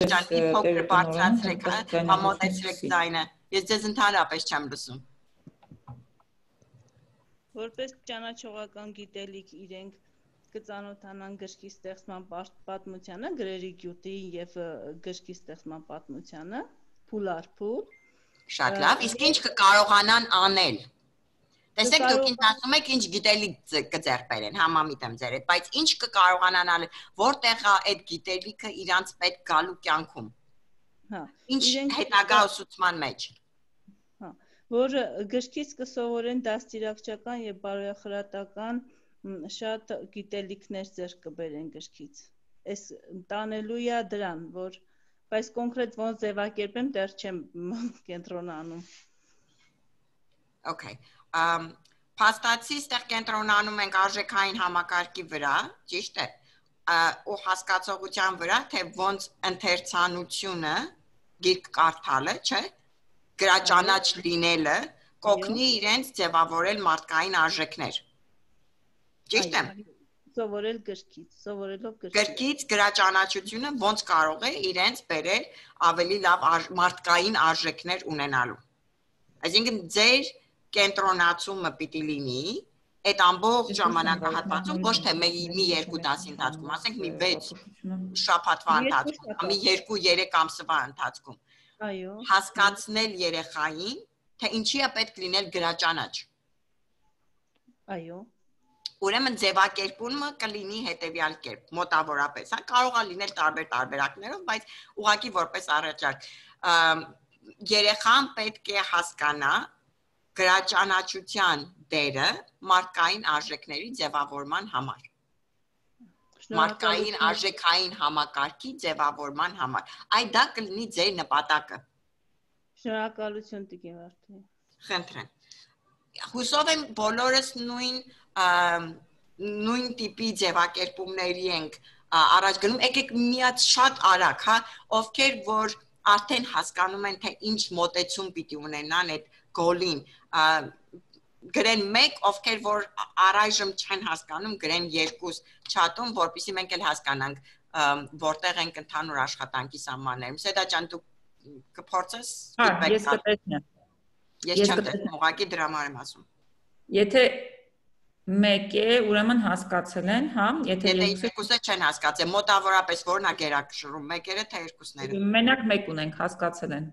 Փոքր բարձրացրեք, համոզեցրեք ձայնը։ Ես ձեզ ընդհանրապես չեմ լսում։ Որպես ճանաչողական գիտելիք իրենք կծանոթանան գրքի ստեղծման պատմությանը, գրերի գյուտի եւ գրքի ստեղծման պատմությանը, փուլ առ փուլ։ Շատ լավ, իսկ ինչ կկարողանան անել։ Տեսեք, դուք ինձ ասում եք ինչ գիտելիք կձեռք բերեն, համամիտ եմ ձեր հետ, բայց ինչ կկարողանան անել, որտեղ է այդ գիտելիքը իրանց պետք գալու կյանքում։ Ինչ հետագա ուսուցման մեջ։ Որ գրքից կսովորեն դաստիարակչական եւ բարոյախրատական շատ գիտելիքներ ձեռք կբերեն գրքից։ Այս տանելու է դրան, որ բայց կոնկրետ ոնց ձևակերպեմ, դեռ չեմ կենտրոնանում։ Okay. Փաստացի ստեղ կենտրոնանում ենք արժեքային համակարգի վրա, ճիշտ է, ու հասկացողության վրա, թե ոնց ընթերցանությունը, գիրք կարդալը, չէ, գրաճանաչ լինելը, կօգնի իրենց ձևավորել մարդկային արժեքներ։ Ճիշտ է։ Սովորել գրքից, սովորելով գրքից գրաճանաչությունը ոնց կարող է իրենց բերել ավելի լավ մարդկային արժեքներ ունենալու։ Այսինքն ձեր կենտրոնացումը պիտի լինի այդ ամբողջ ժամանակահատվածում ոչ թե մի 2 դասի ընթացքում, ասենք մի 6 շաբաթվա ընթացքում, մի 2-3 ամսվա ընթացքում։ Այո։ Հասկացնել երեխային, թե ինչի է պետք լինել գրաճանաչ։ Այո։ Ուրեմն ձևակերպումը կլինի հետևյալ կերպ, մոտավորապես, հա, կարող է լինել տարբեր տարբերակներով, բայց ուղղակի որպես առաջարկ երեխան պետք է հասկանա գրաճանաչության դերը մարդկային արժեքների ձևավորման համար։ Մարդկային արժեքային համակարգի ձևավորման համար։ Այդ դա կլինի ձեր նպատակը։ Շնորհակալություն Տիկին Վարդուհի։ Խնդրեմ։ Հուսով եմ բոլորս նույն տիպի ձևակերպումների ենք առաջ գնում, եկեք միած շատ արագ, հա, ովքեր որ արդեն հասկանում են, թե ինչ մոտեցում պիտի ունենան այդ գոլին, գրեն 1, ովքեր որ առայժմ չեն հասկանում, գրեն 2 չաթում, որպեսզի մենք էլ հասկանանք, որտեղ ենք ընդհանուր աշխատանքի սահմաններում։ Սեդա ջան, դու կփորձես ֆիդբեք Ես կտեսնեմ։ Ես չեմ տեսնում, ուղղակի դրա համար եմ ասում։ Եթե 1 է, ուրեմն հասկացել են, հա, եթե 2-ը չեն հասկացել, մոտավորապես որն է գերակշռում, 1-երը թե 2-ները։ Մենակ 1 ունենք, հասկացել են։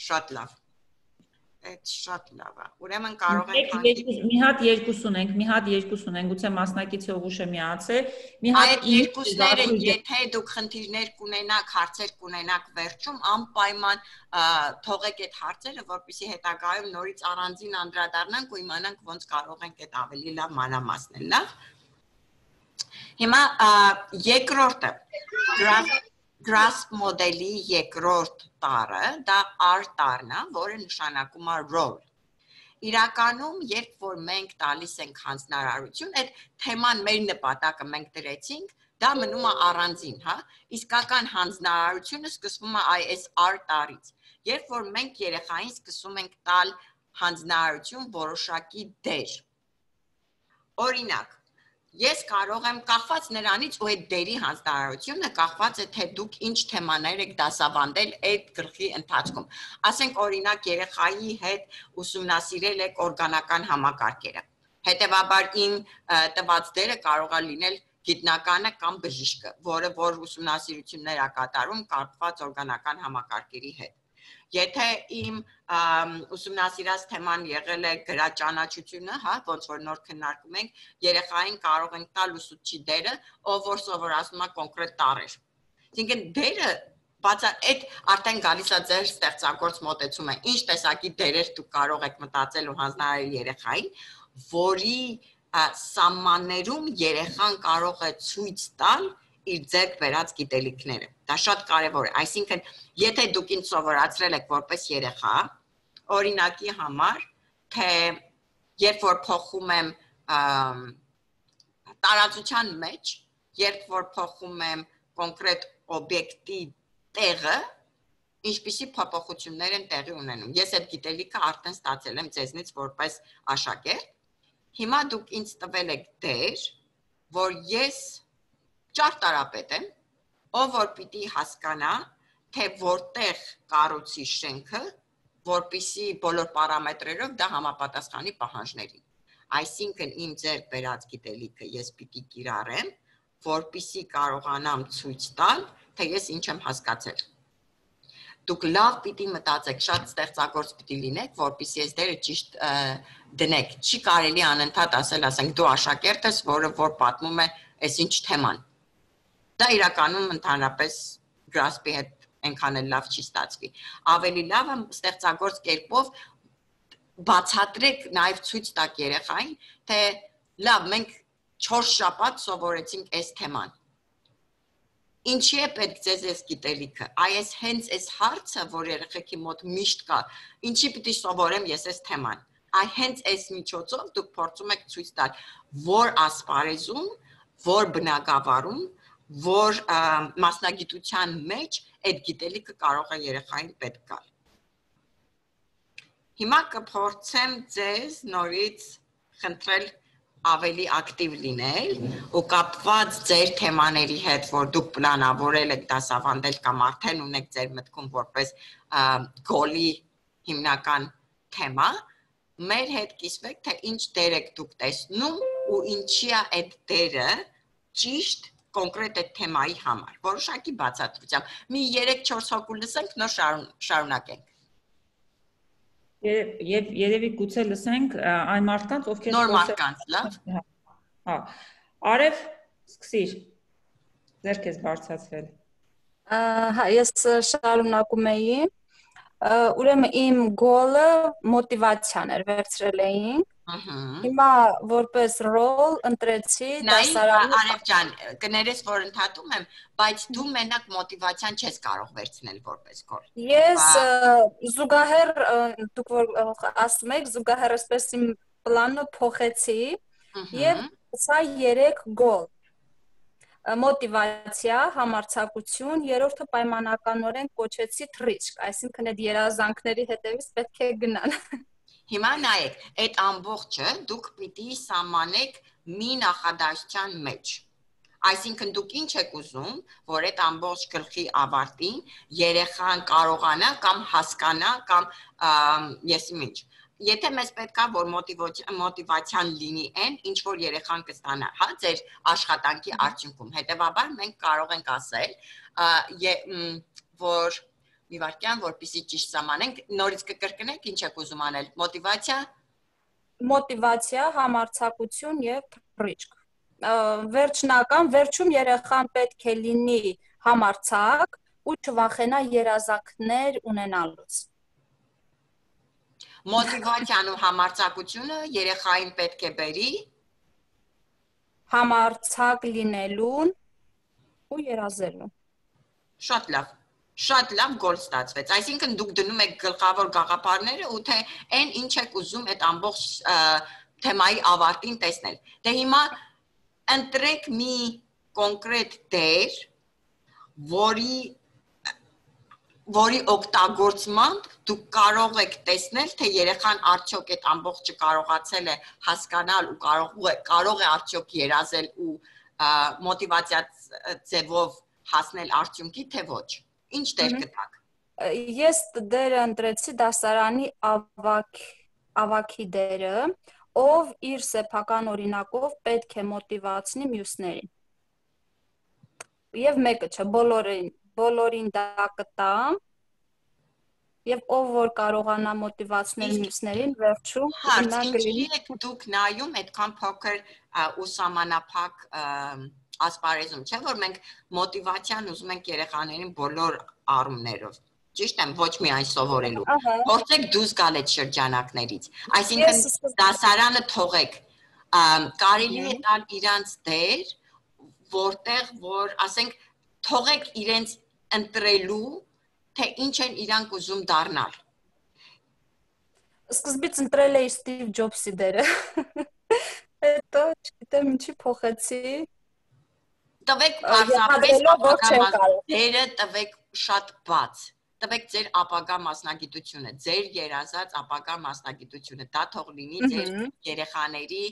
Շատ լավ։ Այդ շատ լավ է։ Ուրեմն կարող ենք մի հատ 2 ունենք, մի հատ 2 ունենք, գուցե մասնակիցը ուղուշ է միացել, մի հատ այդ 2-ները, եթե դուք խնդիրներ կունենաք, հարցեր կունենաք վերջում, անպայման թողեք այդ հարցերը, որպեսզի հետագայում նորից առանձին անդրադառնանք ու իմանանք ոնց կարող ենք այդ ավելի լավ մանրամասնել, լավ։ Հիմա երկրորդը Grasp մոդելի երկրորդ տարը, դա R տարն է, որը նշանակում է role։ Իրականում, երբ որ մենք տալիս ենք հանձնարարություն, այդ թեման մեր նպատակը մենք դրեցինք, դա մնում է առանձին, հա, իսկական հանձնարարությունը սկսվում է այս R տարից։ Երբ որ մենք երեխային սկսում ենք տալ հանձնարարություն որոշակի դեր։ Օրինակ, ես կարող եմ կախված նրանից ու այդ դերի հանձնարարությունը կախված է թե դուք ինչ թեմաներ եք դասավանդել այդ գլխի ընթացքում։ Ասենք օրինակ երեխայի հետ ուսումնասիրել եք օրգանական համակարգերը։ Հետևաբար իմ տված դերը կարող է լինել գիտնականը կամ բժիշկը, որը որ ուսումնասիրություններ է կատարում կապված օրգանական համակարգերի հետ։ Եթե իմ ուսումնասիրած թեման եղել է գրաճանաչությունը, հա, ոնց որ նոր քննարկում ենք, երեխային կարող ենք տալ ուսուցչի դերը, ով որ սովորացնում է կոնկրետ տառեր։ Այսինքն դերը այդ արդեն գալիս է ձեր ստեղծագործ մոտեցումը, ինչ տեսակի դերեր դուք կարող եք մտածել ու հանձնարարել երեխային, որի սահմաններում երեխան կարող է ցույց տալ իր ձեռք բերած գիտելիքները։ Դա շատ կարևոր է, այսինքն եթե դուք ինձ սովորացրել եք որպես երեխա, օրինակի համար, թե երբ որ փոխում եմ տարածության մեջ, երբ որ փոխում եմ կոնկրետ օբյեկտի տեղը, ինչպիսի փոփոխություններ են տեղի ունենում։ Ես այդ գիտելիքը արդեն ստացել եմ ձեզնից որպես աշակերտ։ Հիմա դուք ինձ տվել եք դեր, որ ես ճարտարապետ եմ, ով որ պիտի հասկանա, թե որտեղ կառուցի շենքը, որպիսի բոլոր պարամետրերով դա համապատասխանի պահանջներին։ Այսինքն իմ ձեռք բերած գիտելիքը ես պիտի կիրառեմ, որպիսի կարողանամ ցույց տալ, թե ես ինչ եմ հասկացել։ Դուք լավ պիտի մտածեք, շատ ստեղծագործ պիտի լինեք, որպեսզի այս դերը ճիշտ դնեք։ Չի կարելի անընդհատ ասենք դու աշակերտ ես, որը որ պատմում է այսինչ թեման։ Դա իրականում ընդհանրապես գրասպի հետ այնքան էլ լավ չի ստացվի։ Ավելի լավ է ստեղծագործ կերպով բացատրեք, նաև ցույց տաք երեխային, թե լավ, մենք 4 շաբաթ սովորեցինք այս թեման։ Ինչի է պետք ձեզ այս գիտելիքը, այս հենց այս հարցը, որ երեխեքի մոտ միշտ կա, ինչի պիտի սովորեմ ես այս թեման, հենց այս միջոցով դուք փորձում եք ցույց տալ, որ ասպարեզում, որ բնագավառում, որ մասնագիտության մեջ այդ գիտելիքը կարող է երեխային պետք գալ։ Հիմա կփորձեմ ձեզ նորից խնդրել ավելի ակտիվ լինել ու կապված ձեր թեմաների հետ, որ դուք պլանավորել եք դասավանդել կամ արդեն ունեք ձեր մտքում որպես գոլի հիմնական թեմա, մեր հետ կիսվեք, թե ինչ դեր եք դուք տեսնում ու ինչի է այդ դերը ճիշտ կոնկրետ այդ թեմայի համար, որոշակի բացատրությամբ։ Մի 3-4 հոգու լսենք, նոր շարունակենք։ Եվ երևի գուցե լսենք այն մարդկանց, ովքեր նոր մարդկանց, լավ։ Հա։ Արև, սկսիր։ Ձեր քեզ բարձրացրել։ Հա, ես շարունակում էի։ Ուրեմն իմ գոլը մոտիվացիան էր, վերցրել էինք։ Հիմա որպես ռոլ ընտրեցի դասարանի։ Արև ջան, կներես, որ ընդհատում եմ, բայց դու մենակ մոտիվացիան չես կարող վերցնել որպես գոլ։ Ես զուգահեռ, դուք որ ասում եք, զուգահեռ այսպես իմ պլանը փոխեցի եւ սա 3 գոլ։ Մոտիվացիա, համարձակություն, երրորդը պայմանականորեն կոչեցի թռիչք, այսինքն այդ երազանքների հետևից պետք է գնալ։ Հիմա նայեք, այդ ամբողջը դուք պիտի սահմանեք մի նախադասության մեջ։ Այսինքն դուք ինչ եք ուզում, որ այդ ամբողջ գլխի ավարտին երեխան կարողանա կամ հասկանա կամ եսիմ ինչ։ Եթե մեզ պետք է որ մոտիվացիան լինի այն, ինչ որ երեխան կստանա, հա, ձեր աշխատանքի արդյունքում։ Հետևաբար մենք կարող ենք ասել, որ մի վարքյան, որպեսզի ճիշտ սահմանենք, նորից կկրկնեք, ինչ եք ուզում անել, մոտիվացիա, համարձակություն եւ թռիչք։ Վերջում երեխան պետք է լինի համարձակ ու չվախենա երազանքներ ունենալուց։ Մոտիվացիան ու համարձակությունը երեխային պետք է բերի համարձակ լինելուն ու երազելուն։ Շատ լավ գոլ ստացվեց։ Այսինքն դուք դնում եք գլխավոր գաղափարները ու թե այն ինչ եք ուզում այդ ամբողջ թեմայի ավարտին տեսնել։ Դե հիմա ընտրեք մի կոնկրետ դեր, որի օգտագործմամբ դուք կարող եք տեսնել, թե երեխան արդյոք այդ ամբողջը կարողացել է հասկանալ ու կարող է արդյոք երազել ու մոտիվացիա ձևով հասնել արդյունքի, թե ոչ։ Ինչ դեր կտաք։ Ես դերը ընտրեցի դասարանի ավագի դերը, ով իր սեփական օրինակով պետք է մոտիվացնի մյուսներին։ Եվ մեկը չէ, բոլորին դա կտամ, եւ ով որ կարողանա մոտիվացնել մյուսներին, վերջում նա կլինի։ Դուք նայում այդքան փոքր ու սահմանափակ ասպարեզում, չէ՞ որ մենք մոտիվացիան ուզում ենք երեխաներին բոլոր առումներով։ Ճիշտ եմ, ոչ միայն սովորելու։ Փորձեք դուրս գալ այդ շրջանակներից։ Այսինքն դասարանը թողեք։ Կարելի է տալ իրանց դեր, որտեղ որ, ասենք, թողեք իրենց ընտրելու, թե ինչ են իրանք ուզում դառնալ։ Սկզբից ընտրել էի Ստիվ Ջոբսի դերը։ Հետո, չգիտեմ, ինչի փոխեցի։ Տվեք պարզապես դերը տվեք շատ բաց։ Տվեք ձեր ապագա մասնագիտությունը, ձեր երազած ապագա մասնագիտությունը, դա թող լինի ձեր երեխաների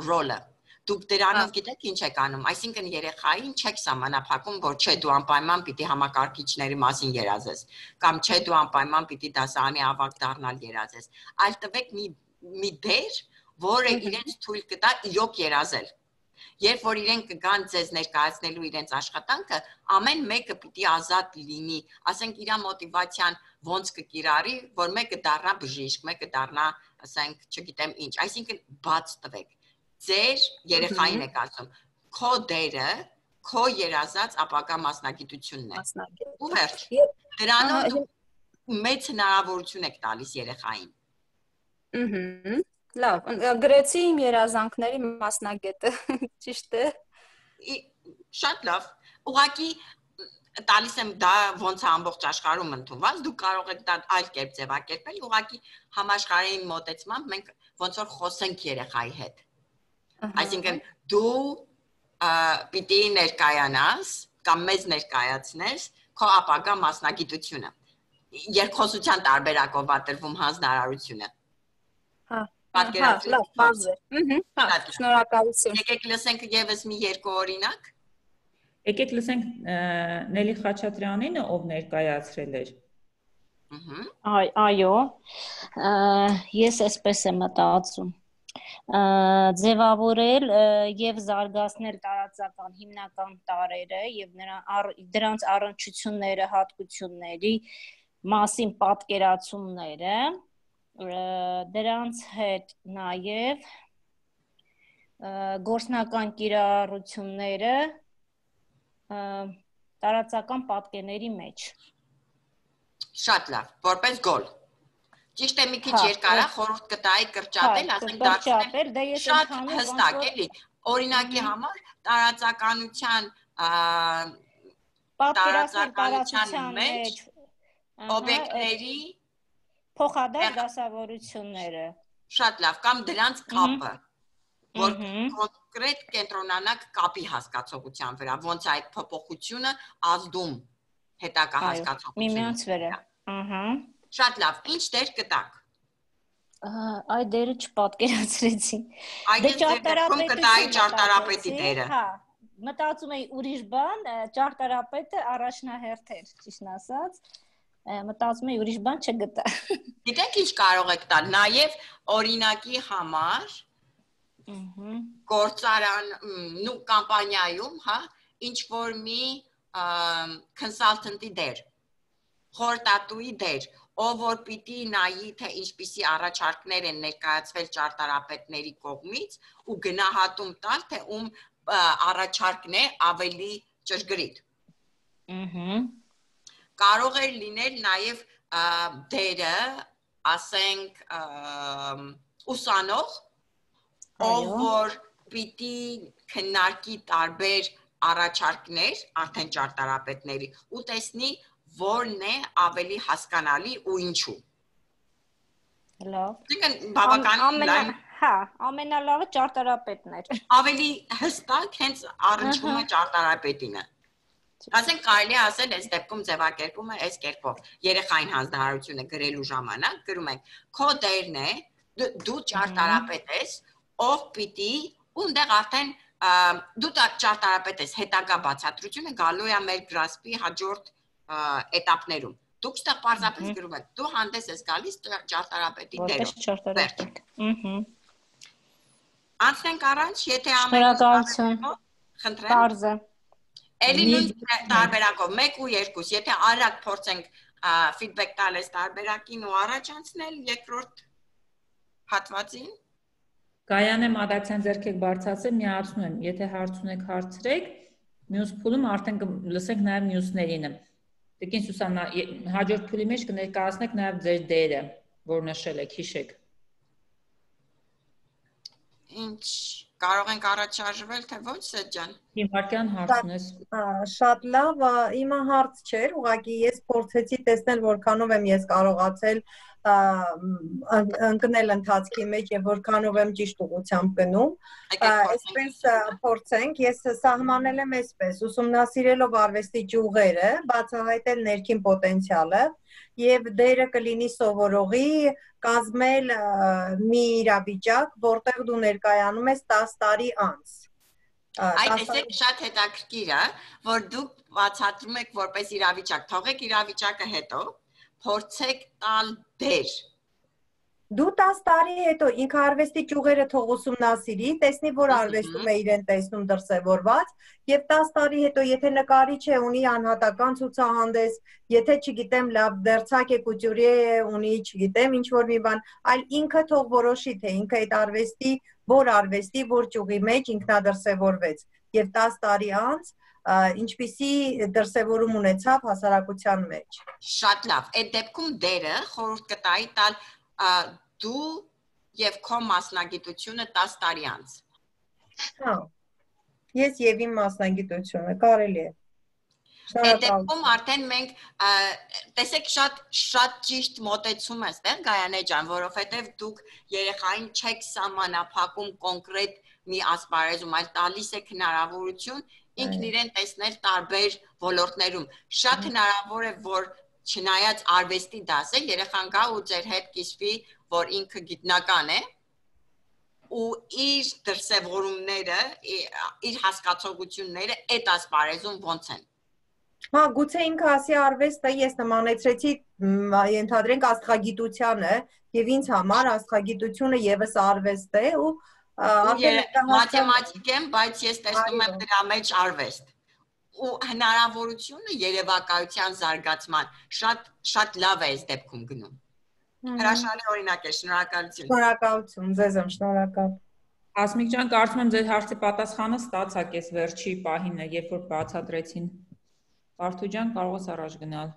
ռոլը, Դուք դրանով գիտեք ինչ եք անում, այսինքն երեխային չեք սահմանափակում, որ չէ դու անպայման պիտի համակարգիչների մասին երազես, կամ չէ դու անպայման պիտի դասարանի ավագ դառնալ երազես, այլ տվեք մի դեր, որը իրենց թույլ կտա իրոք երազել։ Երբ որ իրենք կգան ձեզ ներկայացնելու իրենց աշխատանքը, ամեն մեկը պիտի ազատ լինի, ասենք իր մոտիվացիան ոնց կկիրառի, որ մեկը դառնա բժիշկ, մեկը դառնա, ասենք, չգիտեմ ինչ, այսինքն բաց տվեք։ Ձեր երեխային եք ասում, քո դերը, քո երազած ապագա մասնագիտությունն է։ Ու վերջ, դրանով մեծ հնարավորություն եք տալիս երեխային։ Լավ, գրեցի իմ երազանքների մասնագետը, ճիշտ է։ Շատ լավ։ Ուղղակի տալիս եմ դա ոնց է ամբողջ աշխարհում ընդունված, դուք կարող եք դա այլ կերպ ձևակերպել, ուղղակի համաշխարհային մոտեցմամբ մենք ոնց որ խոսենք երեխայի հետ։ Այսինքն դու պիտի ներկայանաս կամ մեզ ներկայացնես քո ապագա մասնագիտությունը։ Երկխոսության տարբերակով է տրվում հանձնարարությունը։ Լավ, բարձ է։ Շնորհակալություն։ Եկեք լսենք եւս մի երկու օրինակ։ Եկեք լսենք Նելի Խաչատրյանինը, ով ներկայացրել էր։ Այո, ես այսպես եմ մտածում։ Ձևավորել եւ զարգացնել տարածական հիմնական տարրերը եւ դրանց առնչությունները, հատկությունների մասին պատկերացումները, դրանց հետ նաեւ գործնական կիրառությունները տարածական պատկերների մեջ։ Շատ լավ, որպես գոլ։ Ճիշտ է, մի քիչ երկար է, խորհուրդ կտայի կրճատել, ասենք դարձնել շատ հստակ էլի։ Օրինակի համար տարածականության մեջ օբյեկտների փոխադարձ դասավորությունները։ Շատ լավ, կամ դրանց կապը, որ կոնկրետ կենտրոնանաք կապի հասկացողության վրա, ոնց այդ փոփոխությունը ազդում հետագա հասկացողության։ Միմյանց վրա։ Շատ լավ, ինչ դեր կտակ։ Այդ դերը չպատկերացրեցի։ Այդ դերում կտայի ճարտարապետի դերը։ Հա, մտածում էի ուրիշ բան, ճարտարապետը առաջնահերթ էր, ճիշտն ասած։ Մտածում էի ուրիշ բան չգտա։ Գիտեք ինչ կարող եք տալ, նաև օրինակի համար գործարան ու կամպանիայում, հա, ինչ որ մի consultant-ի դեր, խորհրդատուի դեր, ով որ պիտի նայի, թե ինչպիսի առաջարկներ են ներկայացվել ճարտարապետների կողմից ու գնահատում տալ, թե ում առաջարկն է ավելի ճշգրիտ։ Կարող է լինել նաև դերը, ասենք, ուսանող, ով որ պիտի քննարկի տարբեր առաջարկներ, արդեն ճարտարապետների, ու տեսնի որն է ավելի հասկանալի ու ինչու։ Լավ։ Դուք բավականին լայն, հա, ամենալավը ճարտարապետն էր։ Ավելի հստակ հենց առնչվում է ճարտարապետինը։ Ասենք կարելի է ասել, այս դեպքում ձևակերպումը այս կերպով։ Երեխային հանձնարարությունը գրելու ժամանակ գրում ենք. քո դերն է, դու ճարտարապետ ես, ով պիտի, ունդեղ արդեն դու ճարտարապետ ես, հետագա բացատրությունը գալու է մեր գրասպի հաջորդ էտապներում։ Դուք ստեղ պարզապես գրում եք, դու հանդես ես գալիս ճարտարապետի դերով։ Անցնենք առաջ, եթե Շնորհակալություն։ խնդրեմ։ Պարզ է։ Էլի նույն տարբերակով 1 ու 2, եթե արագ փորձենք ֆիդբեք տալ այս տարբերակին ու առաջ անցնել երկրորդ հատվածին։ Գայանե Մադացյան ձեռքեք բարձրացել, միացնում եմ, եթե հարց ունեք հարցրեք, մյուս փուլում արդեն լսենք նաև մյուսներինը։ Տիկին Սուսաննա, հաջորդ փուլի մեջ կներկայացնեք նաև ձեր դերը, որ նշել եք, հիշեք։ Ինչ կարող ենք առաջ շարժվել, թե ոչ, Սեթ ջան։ Հիմարկյան հարց ունես։ Շատ լավ, իմը հարց չէր, ուղղակի ես փորձեցի տեսնել որքանով եմ ես կարողացել ընկնել ընթացքի մեջ եւ որքանով եմ ճիշտ ուղղությամբ գնում։ Այսպես փորձենք, ես սահմանել եմ այսպես, ուսումնասիրելով արվեստի ճյուղերը, բացահայտել ներքին պոտենցիալը եւ դերը կլինի սովորողի կազմել մի իրավիճակ, որտեղ դու ներկայանում ես 10 տարի անց։ Այդ էսեք շատ հետաքրքիր է, որ դուք բացատրում եք որպես իրավիճակ, թողեք իրավիճակը հետո, փորձեք տալ դեր։ Դու 10 տարի հետո ինքը արվեստի ճյուղերը թող ուսումնասիրի, տեսնի, որ արվեստում է իրեն տեսնում դրսևորված, եւ 10 տարի հետո եթե նկարիչ է, ունի անհատական ցուցահանդես, եթե չգիտեմ, լավ դերցակ է, կուտյուրիե է, ունի, չգիտեմ, ինչ որ մի բան, այլ ինքը թող որոշի, թե ինքը այդ արվեստի, որ ճյուղի մեջ ինքնադրսևորվեց, եւ 10 տարի անց ինչպիսի դրսևորում ունեցավ հասարակության մեջ։ Շատ լավ, այդ դեպքում դերը խորհուրդ կտայի տալ դու եւ քո մասնագիտությունը 10 տարի անց։ Հա։ Ես եւ իմ մասնագիտությունը կարելի է։ Այդ դեպքում արդեն մենք տեսեք շատ ճիշտ մոտեցում է, այստեղ Գայանե ջան, որովհետեւ դուք երեխային չեք սահմանափակում կոնկրետ մի ասպարեզում, այլ տալիս եք հնարավորություն ինքն իրեն տեսնել տարբեր ոլորտներում։ Շատ հնարավոր է, որ չնայած արվեստի դաս է, երեխան գա ու ձեր հետ կիսվի, որ ինքը գիտնական է ու իր դրսևորումները, իր հասկացողությունները այդ ասպարեզում ոնց են։ Հա, գուցե ինքը ասի արվեստը ես նմանեցրեցի, ենթադրենք աստղագիտությանը, եւ ինձ համար աստղագիտությունը եւս արվեստ է ու մաթեմատիկ եմ, բայց ես տեսնում եմ դրա մեջ արվեստ։ Ու հնարավորությունը երևակայության զարգացման շատ լավ է այս դեպքում գնում։ Հրաշալի օրինակ է, շնորհակալություն։ Շնորհակալություն, ձեզ եմ շնորհակալ։ Ասմիկ ջան, կարծում եմ ձեր հարցի պատասխանը ստացաք այս վերջի պահին, երբ որ բացատրեցին։ Բարթու ջան, կարող ես առաջ գնալ։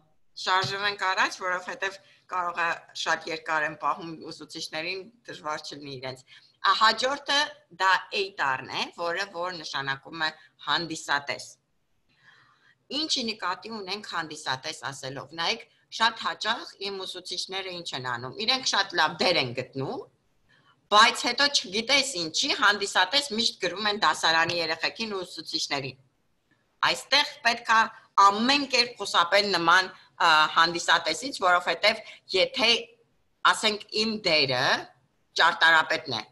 Շարժվենք առաջ, որովհետև կարող է շատ երկար են պահում ուսուցիչներին, դժվար չլինի իրենց։ Հաջորդը դա էյտարն է, որ նշանակում է հանդիսատես։ Ինչի նկատի ունենք հանդիսատես ասելով, նայեք, շատ հաճախ իմ ուսուցիչները ինչ են անում, իրենք շատ լավ դեր են գտնում, բայց հետո չգիտես ինչի, հանդիսատես միշտ գրում են դասարանի երեխեքին ու ուսուցիչներին։ Այստեղ պետք է ամեն կերպ խուսափել նման հանդիսատեսից, որովհետև եթե ասենք իմ դերը ճարտարապետն է,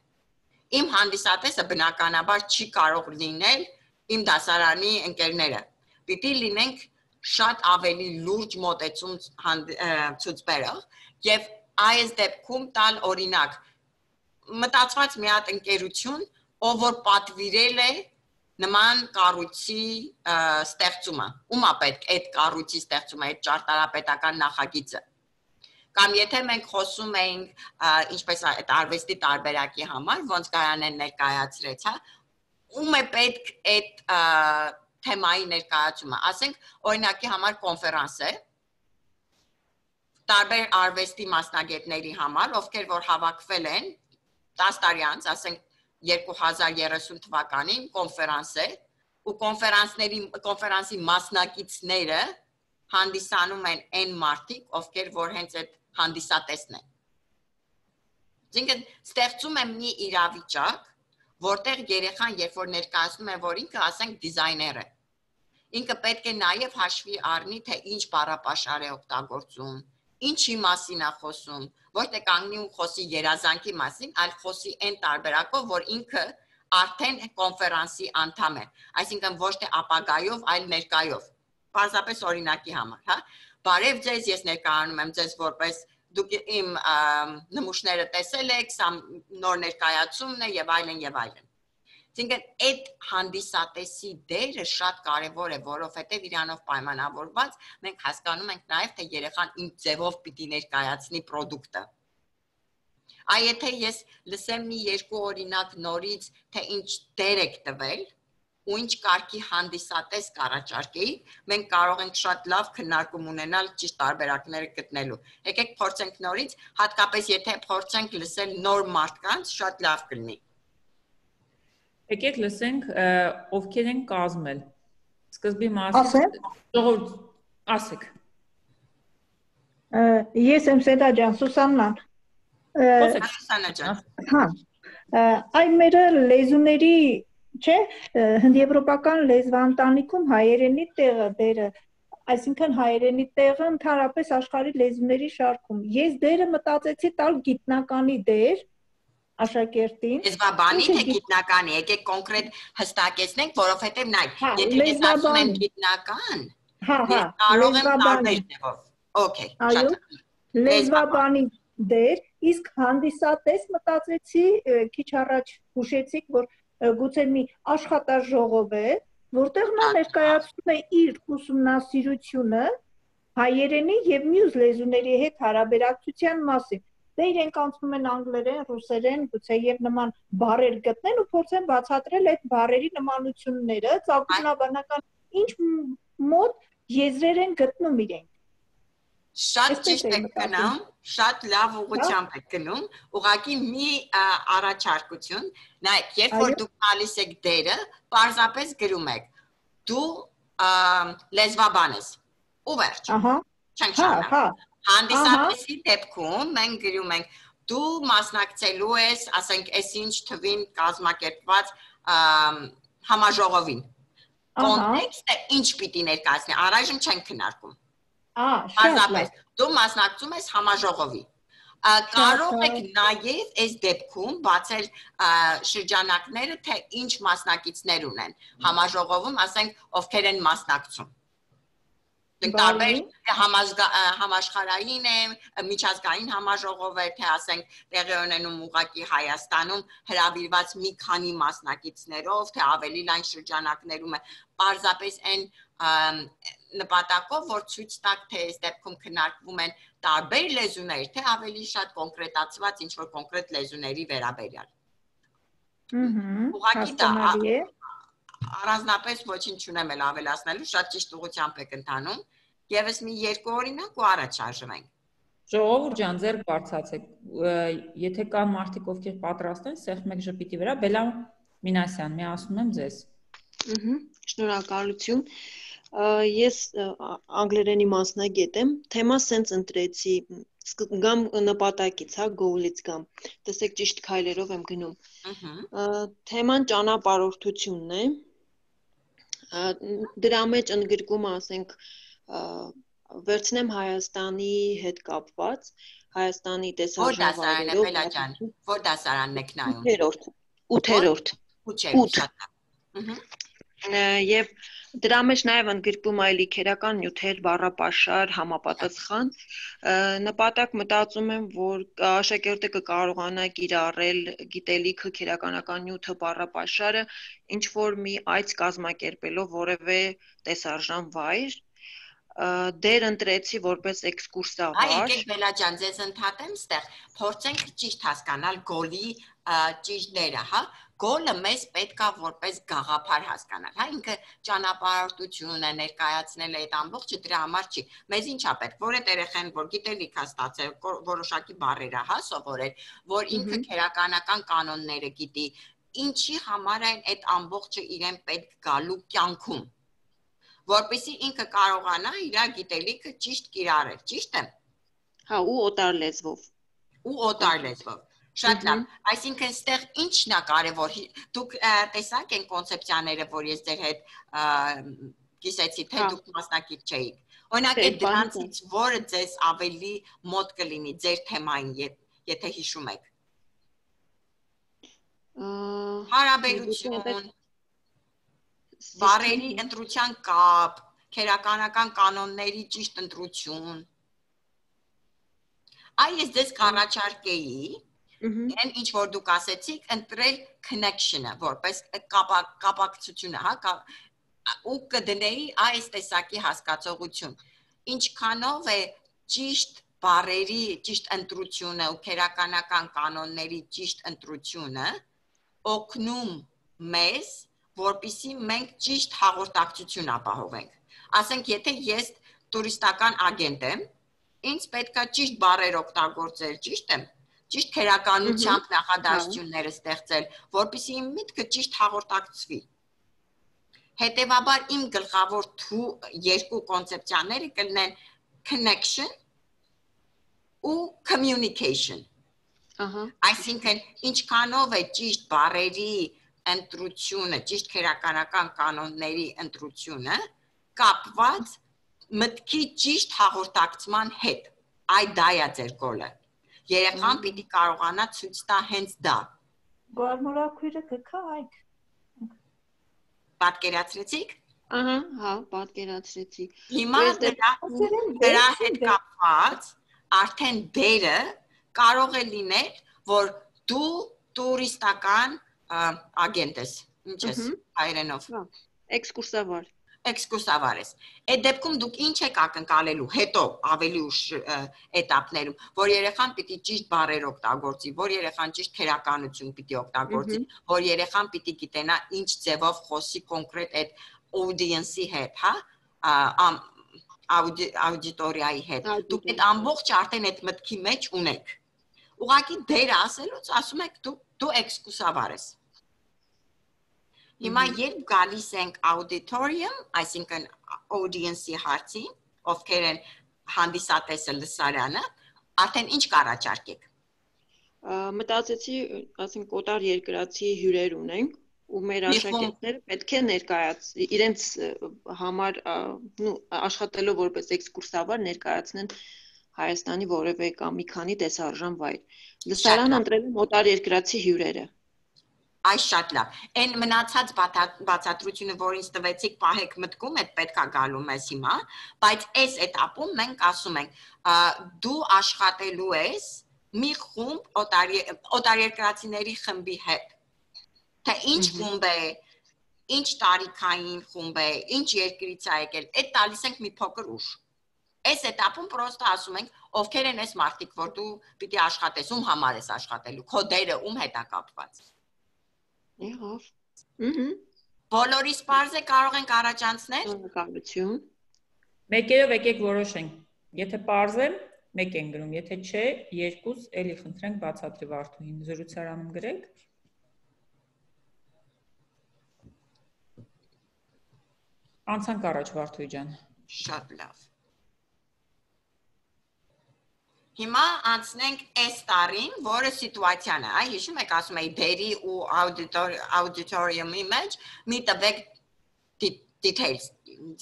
իմ հանդիսատեսը բնականաբար չի կարող լինել իմ դասարանի ընկերները։ Պիտի լինենք շատ ավելի լուրջ մոտեցում ցուցբերող եւ այս դեպքում տալ օրինակ մտածված մի հատ ընկերություն, ով որ պատվիրել է նման կառույցի ստեղծումը, ումա պետք այդ կառույցի ստեղծումը, այդ ճարտարապետական նախագիծը։ Կամ եթե մենք խոսում էինք ինչպես այդ արվեստի տարբերակի համար, ոնց Գայանեն ներկայացրեց, հա, ում է պետք այդ թեմայի ներկայացումը, ասենք օրինակի համար կոնֆերանս է, տարբեր արվեստի մասնագետների համար, ովքեր որ հավաքվել են 10 տարի անց, ասենք 2030 թվականին կոնֆերանս է, ու կոնֆերանսի մասնակիցները հանդիսանում են այն մարդիկ, ովքեր որ հենց այդ հանդիսատեսն են։ Այսինքն ստեղծում եմ մի իրավիճակ, որտեղ երեխան երբ որ ներկայացնում է, որ ինքը ասենք դիզայներ է, ինքը պետք է նաև հաշվի առնի, թե ինչ բառապաշար է օգտագործում, ինչի մասին է խոսում, ոչ թե կանգնի ու խոսի երազանքի մասին, այլ խոսի այն տարբերակով, որ ինքը արդեն կոնֆերանսի անդամ է, այսինքն ոչ թե ապագայով, այլ ներկայով։ Պարզապես օրինակի համար, հա։ Բարև ձեզ, ես ներկայանում եմ ձեզ որպես դուք իմ նմուշները տեսել եք, սա նոր ներկայացումն է եւ այլն եւ այլն։ Այսինքն այդ հանդիսատեսի դերը շատ կարեւոր է, որովհետեւ իրանով պայմանավորված մենք հասկանում ենք նաեւ թե երեխան ինչ ձևով պիտի ներկայացնի product-ը։ Այ եթե ես լսեմ մի երկու օրինակ նորից, թե ինչ դեր եք տվել ու ինչ կարգի հանդիսատես կառաջարկեի, մենք կարող ենք շատ լավ քննարկում ունենալ ճիշտ տարբերակները գտնելու։ Եկեք փորձենք նորից, հատկապես եթե փորձենք լսել նոր մարդկանց, շատ լավ կլինի։ Եկեք լսենք ովքեր են կազմել։ Սկզբի մասին ժողովուրդ ասեք։ Ես եմ Սեդա ջան, Սուսաննան։ Սուսաննա ջան։ Հա։ Այն մեր լեզուների, չէ, հնդեվրոպական լեզվաընտանիքում հայերենի տեղը դերը այսինքն հայերենի տեղը ընդհանրապես աշխարհի լեզուների շարքում։ Ես դերը մտածեցի տալ գիտնականի դեր աշակերտին։ Լեզվաբանի թե գիտնականի, եկեք կոնկրետ հստակեցնենք, որովհետև նայ, եթե ես ասում եմ գիտնական, ես կարող եմ տարբեր ձևով։ Okay, շատ լեզվաբանի դեր, իսկ հանդիսատես մտածեցի քիչ առաջ հուշեցիք, որ գուցե մի աշխատաժողով է, որտեղ նա ներկայացնում է իր ուսումնասիրությունը հայերենի եւ մյուս լեզուների հետ հարաբերակցության մասին։ Դե իրենք անցնում են անգլերեն, ռուսերեն, գուցե եւ նման բառեր գտնեն ու փորձեն բացատրել այդ բառերի նմանությունները, ծագումնաբանական ինչ մոտ եզրեր են գտնում իրենք։ Շատ ճիշտ եք գնում, շատ լավ ուղղությամբ եք գնում, ուղղակի մի առաջարկություն, նայեք, երբ որ դուք տալիս եք դերը, պարզապես գրում եք, դու լեզվաբան ես, ու վերջ, չենք շարունակ, հանդիսատեսի դեպքում մենք գրում ենք, դու մասնակցելու ես, ասենք, այսինչ թվին կազմակերպված համաժողովին, կոնտեքստը ինչ պիտի ներկայացնի, առայժմ չենք քննարկում։ Պարզապես, դու մասնակցում ես համաժողովի, կարող եք նաև այս դեպքում բացել շրջանակները, թե ինչ մասնակիցներ ունեն, համաժողովում, ասենք, ովքեր են մասնակցում, տարբեր համաշխարհային է, միջազգային համաժողով է, թե ասենք տեղի ունենում ուղղակի Հայաստանում հրավիրված մի քանի մասնակիցներով, թե ավելի լայն շրջանակներում է, պարզապես այն նպատակով, որ ցույց տակ, թե այս դեպքում քննարկվում են տարբեր լեզուներ, թե ավելի շատ կոնկրետացված ինչ-որ կոնկրետ լեզուների վերաբերյալ։ Ուղղակի դա առանձնապես ոչինչ չունեմ էլ ավելացնելու, շատ ճիշտ ուղղությամբ եք ընթանում, եւս մի երկու օրինակ ու առաջ շարժվենք։ Ժողովուրդ ջան, ձեր բարձացեք, եթե կան մարդիկ, ովքեր պատրաստ են, սեղմ եք ժպիտի վրա, Բելա Մինասյան, միացնում եմ ձեզ։ Շնորհակալություն։ Ես անգլերենի մասնագետ եմ, թեմա սենց ընտրեցի, գամ նպատակից, գոլից գամ, տեսեք ճիշտ քայլերով եմ գնում։ Թեման ճանապարհորդությունն է, դրա մեջ ընդգրկում, ասենք, վերցնեմ Հայաստանի հետ կապված, Հայաստանի տեսարժանավայրերով։ Որ դասարան է, Բելա ջան, որ դասարանն եք նայում։ 8-րդ։ Եվ դրա մեջ նաև ընդգրկում է լիքերական նյութեր, բառապաշար, համապատասխան։ Նպատակ մտածում եմ, որ աշակերտը կկարողանա կիրառել գիտելիքը, քերականական նյութը, բառապաշարը, ինչ որ մի այց կազմակերպելով որևէ տեսարժան վայր, դեր ընտրեցի որպես էքսկուրսավար։ Եկեք Բելա ջան, ձեզ ընդհատեմ ստեղ, փորձենք ճիշտ հասկանալ գոլի ճիշտ դերը, հա։ Գոլը մեզ պետք է որպես գաղափար հասկանալ, հա, ինքը ճանապարհորդություն է ներկայացնել այդ ամբողջը դրա համար չի։ Մեզ ինչ է պետք, որ այդ երեխան, որ գիտելիք է ստացել, որոշակի բառեր է, հա, սովորել, որ ինքը քերականական կանոնները գիտի, ինչի համար են այդ ամբողջը իրեն պետք գալու կյանքում, որպեսզի ինքը կարողանա իր գիտելիքը ճիշտ կիրառել, ճիշտ է։ Հա, ու օտար լեզվով։ Շատ լավ, այսինքն ստեղ ինչն է կարևոր, դուք տեսակ են կոնցեպցիաները, որ ես ձեր հետ կիսեցի, թե դուք մասնակից չէիք, օրինակ այդ դրանցից որը ձեզ ավելի մոտ կլինի ձեր թեմային, եթե հիշում եք, հարաբերություն, բառերի ընտրության կապ, քերականական կանոնների ճիշտ ընտրություն, այս ձեզ կառաջարկեի, Այն ինչ որ դուք ասեցիք, ընտրել connection-ը, որպես կապակցությունը, հա, ու կդնեի այս տեսակի հասկացողություն։ Ինչքանով է ճիշտ բառերի ճիշտ ընտրությունը ու քերականական կանոնների ճիշտ ընտրությունը օգնում մեզ, որպեսզի մենք ճիշտ հաղորդակցություն ապահովենք։ Ասենք, եթե ես տուրիստական ագենտ եմ, ինձ պետք է ճիշտ բառեր օգտագործել, ճիշտ է։ Ճիշտ քերականությամբ նախադասությունները ստեղծել, որպեսզի իմ միտքը ճիշտ հաղորդակցվի։ Հետևաբար իմ գլխավոր երկու կոնցեպցիաները կլինեն connection ու communication։ Այսինքն ինչքանով է ճիշտ բառերի ընտրությունը, ճիշտ քերականական կանոնների ընտրությունը կապված մտքի ճիշտ հաղորդակցման հետ։ Այդ դա է ձեր գոլը։ Երեխան պիտի կարողանա ցույց տա հենց դա։ Գարմորակույրը կքա այդ։ Պատկերացրեցիք։ Ահա, հա, պատկերացրեցի։ Հիմա դրա հետ կապված արդեն դերը կարող է լինել, որ դու տուրիստական ագենտ ես, ինչ ես հայերենով։ Էքսկուրսավար։ Էքսկուրսավար ես։ Այդ դեպքում դուք ինչ եք ակնկալելու հետո ավելի ուշ էտապներում, որ երեխան պիտի ճիշտ բառեր օգտագործի, որ երեխան ճիշտ քերականություն պիտի օգտագործի, որ երեխան պիտի գիտենա ինչ ձևով խոսի կոնկրետ այդ audience-ի հետ, հա, աուդիտորիայի հետ։ Դուք այդ ամբողջ արդեն այդ մտքի մեջ ունեք։ Ուղղակի դերը ասելուց ասում եք դու էքսկուրսավար ես։ Հիմա երբ գալիս ենք auditorium, այսինքն audience-ի հարցին, ովքեր են հանդիսատեսը լսարանը, արդեն ինչ կառաջարկեք։ Մտածեցի, ասենք կոտար երկրացի հյուրեր ունենք, ու մեր աշակերտները պետք է ներկայացնեն իրենց համար, աշխատելով որպես էքսկուրսավար ներկայացնեն Հայաստանի որևէ կամ մի քանի տեսարժան վայր։ Լսարան ընտրել են օտար երկրացի հյուրերը։ Այս շատ լավ։ Այն մնացած բացատրությունը, որ ինձ տվեցիք, պահեք մտքում, այդ պետքա գալու մեզ հիմա, բայց այս էտապում մենք ասում ենք, դու աշխատելու ես մի խումբ օտարերկրացիների խմբի հետ։ Թե ինչ խումբ է, ինչ տարիքային խումբ է, ինչ երկրից է եկել, այդ տալիս ենք մի փոքր ուշ։ Այս էտապում պրոստը ասում ենք, ովքեր են այս մարդիկ, որ դու պիտի աշխատես, ում համար ես աշխատելու, քո դերը ում հետ է կապված։ Եղավ։ Բոլորիս պարզ է կարող ենք առաջանցնել։ Շնորհակալություն։ Մեկերով եկեք որոշենք։ Եթե պարզ է, մեկ են գրում, եթե չէ, երկուս էլի խնդրենք բացատրի Վարդուհին, զրուցարանում գրեք։ Անցանք առաջ Վարդուհի ջան։ Շատ լավ։ Հիմա անցնենք այս տարին, որը սիտուացիան է, այ հիշում եք, ասում էի դերի ու auditorium-ի մեջ մի տվեք details,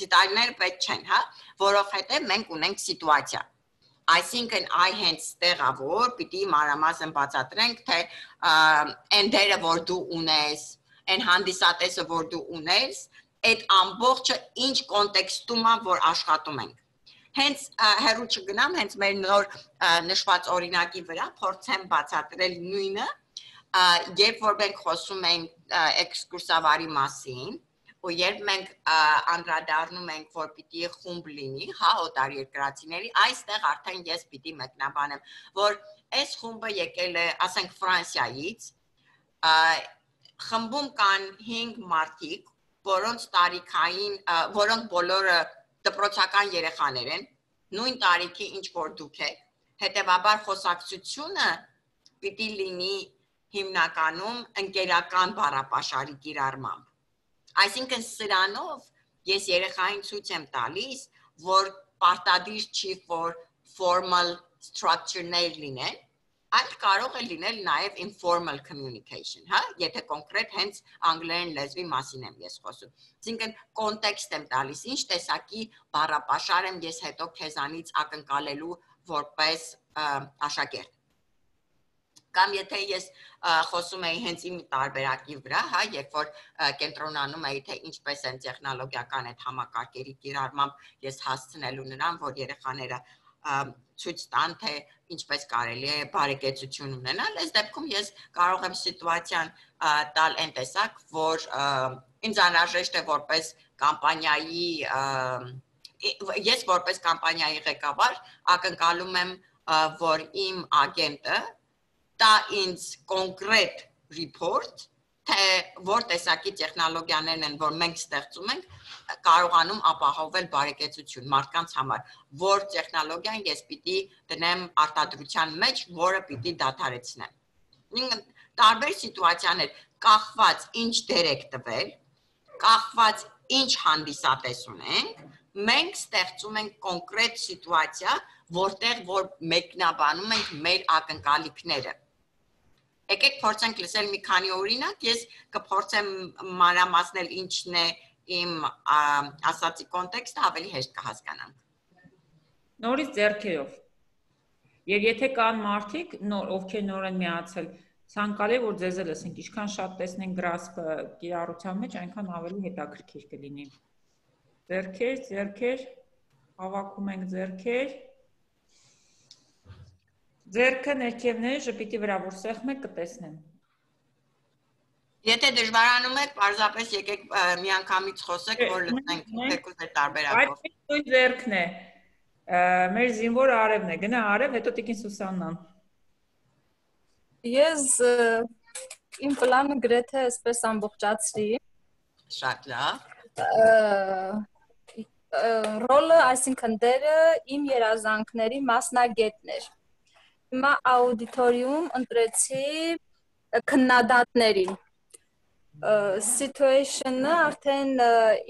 դետալներ պետք չեն, հա, որովհետև մենք ունենք սիտուացիա։ Այսինքն այ հենց տեղա որ պիտի մանրամասն բացատրենք, թե այն դերը, որ դու ունես, այն հանդիսատեսը, որ դու ունես, այդ ամբողջը ինչ կոնտեքստում է, որ աշխատում ենք։ Հենց հեռու չգնամ, հենց մեր նոր նշված օրինակի վրա փորձեմ բացատրել նույնը, երբ որ մենք խոսում ենք էքսկուրսավարի մասին, ու երբ մենք անդրադառնում ենք, որ պիտի խումբ լինի, հա, օտարերկրացիների, այստեղ արդեն ես պիտի մեկնաբանեմ, որ այս խումբը եկել է, ասենք, Ֆրանսիայից, խմբում կան 5 մարդիկ, որոնց տարիքային, որոնք բոլորը դպրոցական երեխաներ են, նույն տարիքի ինչ որ դուք եք, հետևաբար խոսակցությունը պիտի լինի հիմնականում ընկերական բառապաշարի կիրառմամբ։ Այսինքն սրանով ես երեխային ցույց եմ տալիս, որ պարտադիր չի որ formal structure-ներ լինեն, այլ կարող է լինել նաև informal communication, հա, եթե կոնկրետ հենց անգլերեն լեզվի մասին եմ ես խոսում։ Այսինքն կոնտեքստ եմ տալիս, ինչ տեսակի բառապաշար եմ ես հետո քեզանից ակնկալելու որպես աշակերտ։ Կամ եթե ես խոսում էի հենց իմ տարբերակի վրա, հա, երբ որ կենտրոնանում էի, թե ինչպես են տեխնոլոգիական այդ համակարգերի կիրառմամբ ես հասցնելու նրան, որ երեխաները ցույց տան, թե ինչպես կարելի է բարեկեցություն ունենալ, այս դեպքում ես կարող եմ սիտուացիան տալ այն տեսակ, որ ինձ անհրաժեշտ է որպես կամպանիայի, ես որպես կամպանիայի ղեկավար ակնկալում եմ, որ իմ ագենտը տա ինձ կոնկրետ report, թե որ տեսակի տեխնոլոգիաներն են, որ մենք ստեղծում ենք, կարողանում ապահովել բարեկեցություն մարդկանց համար, որ տեխնոլոգիան ես պիտի դնեմ արտադրության մեջ, որը պիտի դադարեցնեմ։ Տարբեր սիտուացիաներ, կախված ինչ դեր եք տվել, կախված ինչ հանդիսատես ունենք, մենք ստեղծում ենք կոնկրետ սիտուացիա, որտեղ որ մեկնաբանում ենք մեր ակնկալիքները։ Եկեք փորձենք լսել մի քանի օրինակ, ես կփորձեմ մանրամասնել ինչն է իմ ասացի կոնտեքստը ավելի հեշտ կհասկանանք։ Նորից ձեռքերով։ Եվ եթե կան մարդիկ, ովքեր նոր են միացել, ցանկալի է որ ձեզ էլ լսենք, ինչքան շատ տեսնենք գրասպը կիրառության մեջ, այնքան ավելի հետաքրքիր կլինի։ Ձեռքեր, հավաքում ենք ձեռքեր։ Ձեռքը ներքևները ժպիտի վրա որ սեղմեք կտեսնեմ։ Եթե դժվարանում եք, պարզապես եկեք միանգամից խոսեք, որ լսենք թեկուզ այդ տարբերակով։ Այդ նույն ձեռքն է։ Մեր զինվոր Արևն է, գնա Արև, հետո Տիկին Սուսաննան։ Ես իմ պլանը գրեթե այսպես ամբողջացրի։ Շատ լավ։ Ռոլը, այսինքն դերը իմ երազանքների մասնագետներ։ Հիմա աուդիտորիում ընտրեցի քննադատներին։ Situation-ը արդեն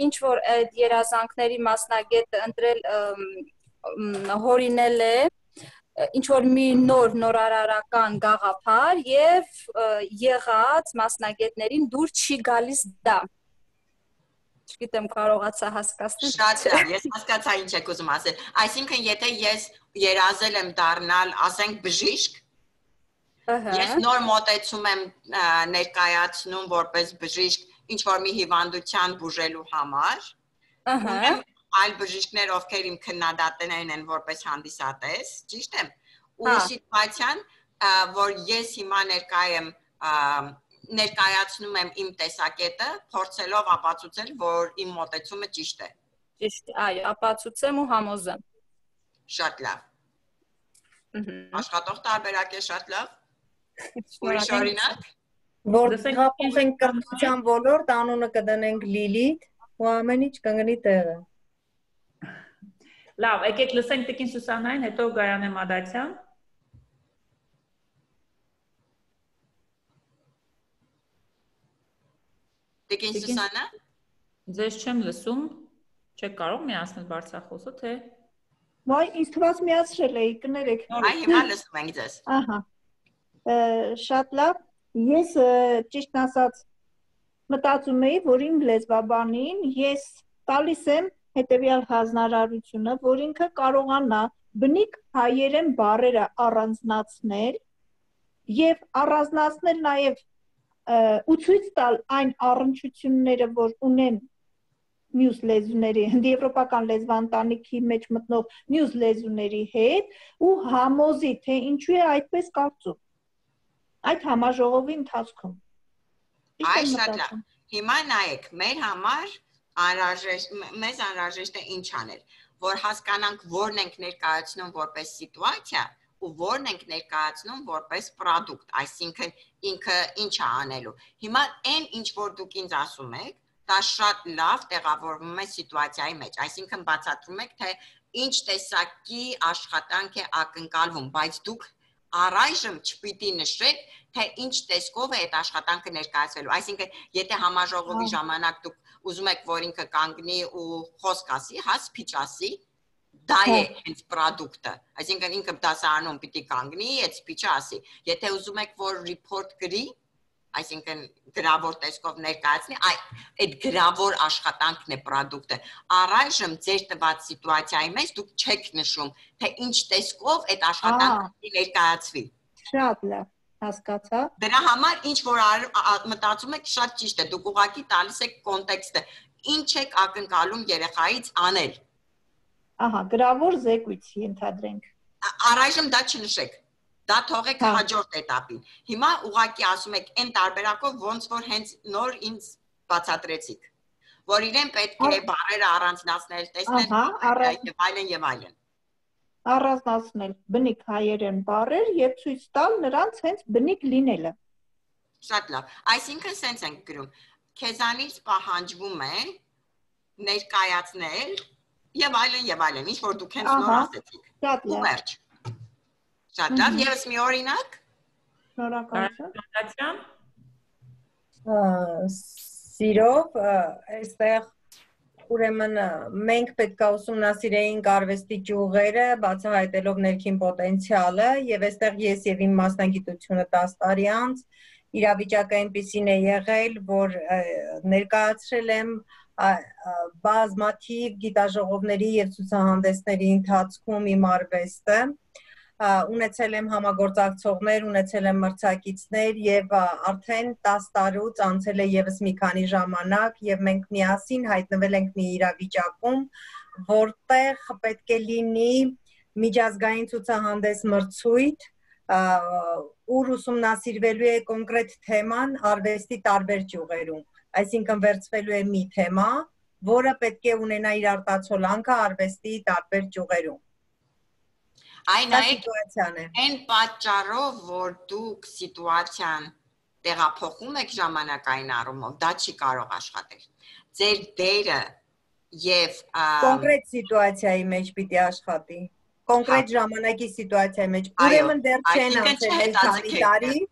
ինչ որ այդ երազանքների մասնագետը ընտրել հորինել է ինչ որ մի նորարարական գաղափար եւ եղած մասնագետներին դուր չի գալիս դա։ Չգիտեմ կարողացա հասկացնել։ Շատ լավ, ես հասկացա ինչ եք ուզում ասել։ Այսինքն եթե ես երազել եմ դառնալ, ասենք բժիշկ, ես նոր մոտեցում եմ ներկայացնում որպես բժիշկ ինչ որ մի հիվանդության բուժելու համար, այլ բժիշկներ, ովքեր իմ քննադատներն են որպես հանդիսատես, ճիշտ եմ, ու սիտուացիան, որ ես հիմա ներկայացնում եմ իմ տեսակետը, փորձելով ապացուցել, որ իմ մոտեցումը ճիշտ է։ Ճիշտ, այո, ապացուցեմ ու համոզեմ։ Շատ լավ։ Աշխատող տարբերակ է, շատ լավ։ Ուրիշ օրինակ։ Որ հապում ենք կրթության ոլորտ, անունը կդնենք Լիլիթ, ու ամեն ինչ կընկնի տեղը։ Լավ, եկեք լսենք Տիկին Սուսաննային, հետո Գայանե Մադացյան։ Տիկին Սուսաննա։ Ձեզ չեմ լսում, չեք կարող միացնել բարձրախոսը, թե։ Ոայ, ինձ թվաց միացրել էի, կներեք։ Այ հիմա լսում ենք ձեզ։ Ահա։ Շատ լավ։ Ես ճիշտն ասած մտածում էի, որ իմ լեզվաբանին ես տալիս եմ հետևյալ հանրարարությունը, որ ինքը կարողանա բնիկ հայերեն բառերը առանձնացնել եւ առանձնացնել նաեւ ու ցույց տալ այն առնչությունները, որ ունեն մյուս լեզուների, հնդիեվրոպական լեզվաընտանիքի մեջ մտնող մյուս լեզուների հետ ու համոզի, թե ինչու է այդպես կարծում։ Այդ համաժողովի ընթացքում։ Այ շատ լավ։ Հիմա նայեք, մեր համար մեզ անհրաժեշտ է ինչ անել, որ հասկանանք որն ենք ներկայացնում որպես սիտուացիա ու որն ենք ներկայացնում որպես product, այսինքն ինքը ինչ է անելու։ Հիմա այն ինչ որ դուք ինձ ասում եք, դա շատ լավ տեղավորվում է սիտուացիայի մեջ, այսինքն բացատրում եք, թե ինչ տեսակի աշխատանք է ակնկալվում, բայց դուք առայժմ չպիտի նշեք, թե ինչ տեսքով է այդ աշխատանքը ներկայացվելու։ Այսինքն, եթե համաժողովի ժամանակ դուք ուզում եք, որ ինքը կանգնի ու խոսք ասի, հա, speech ասի, դա է հենց product-ը։ Այսինքն ինքը դասարանում պիտի կանգնի, այդ speech-ը ասի։ Եթե ուզում եք, որ report գրի, այսինքն գրավոր տեսքով ներկայացնի, այդ գրավոր աշխատանքն է product-ը։ Առայժմ ձեր տված սիտուացիայի մեջ դուք չեք նշում, թե ինչ տեսքով այդ աշխատանքը ներկայացվի։ Շատ լավ, հասկացա։ Դրա համար ինչ որ մտածում եք շատ ճիշտ է, դուք ուղղակի տալիս եք կոնտեքստը, ինչ եք ակնկալում երեխայից անել։ Ահա, գրավոր զեկույց ենթադրենք։ Առայժմ դա չնշեք։ Դա թողեք հաջորդ էտապին։ Հիմա ուղղակի ասում եք այն տարբերակով ոնց որ հենց նոր ինձ բացատրեցիք, որ իրեն պետք է բառերը առանձնացնել, տեսնել եւ այլն։ Առանձնացնել բնիկ հայերեն բառեր եւ ցույց տալ նրանց հենց բնիկ լինելը։ Շատ լավ։ Այսինքն սենց ենք գրում. քեզանից պահանջվում է ներկայացնել եւ այլն, ինչ որ դուք հենց նոր ասեցիք։ Շատ լավ։ Շատ լավ, եւս մի օրինակ։ Շնորհակալություն։ Սիրով, այստեղ ուրեմն մենք պետք է ուսումնասիրեինք արվեստի ճյուղերը, բացահայտելով ներքին պոտենցիալը, եւ այստեղ ես եւ իմ մասնագիտությունը 10 տարի անց իրավիճակը այնպեսին է եղել, որ ներկայացրել եմ բազմաթիվ գիտաժողովների եւ ցուցահանդեսների ընթացքում իմ արվեստը ունեցել եմ համագործակցողներ, ունեցել եմ մրցակիցներ եւ արդեն 10 տարուց անցել է եւս մի քանի ժամանակ եւ մենք միասին հայտնվել ենք մի իրավիճակում, որտեղ պետք է լինի միջազգային ցուցահանդես մրցույթ, ուր ուսումնասիրվելու է կոնկրետ թեման արվեստի տարբեր ճյուղերում, այսինքն վերցվելու է մի թեմա, որը պետք է ունենա իր արտացոլանքը արվեստի տարբեր ճյուղերում։ Այն այն պատճառով, որ դուք սիտուացիան տեղափոխում եք ժամանակային առումով, դա չի կարող աշխատել։ Ձեր դերը եւ կոնկրետ սիտուացիայի մեջ պիտի աշխատի, կոնկրետ ժամանակի սիտուացիայի մեջ, ուրեմն դեռ չեն անցել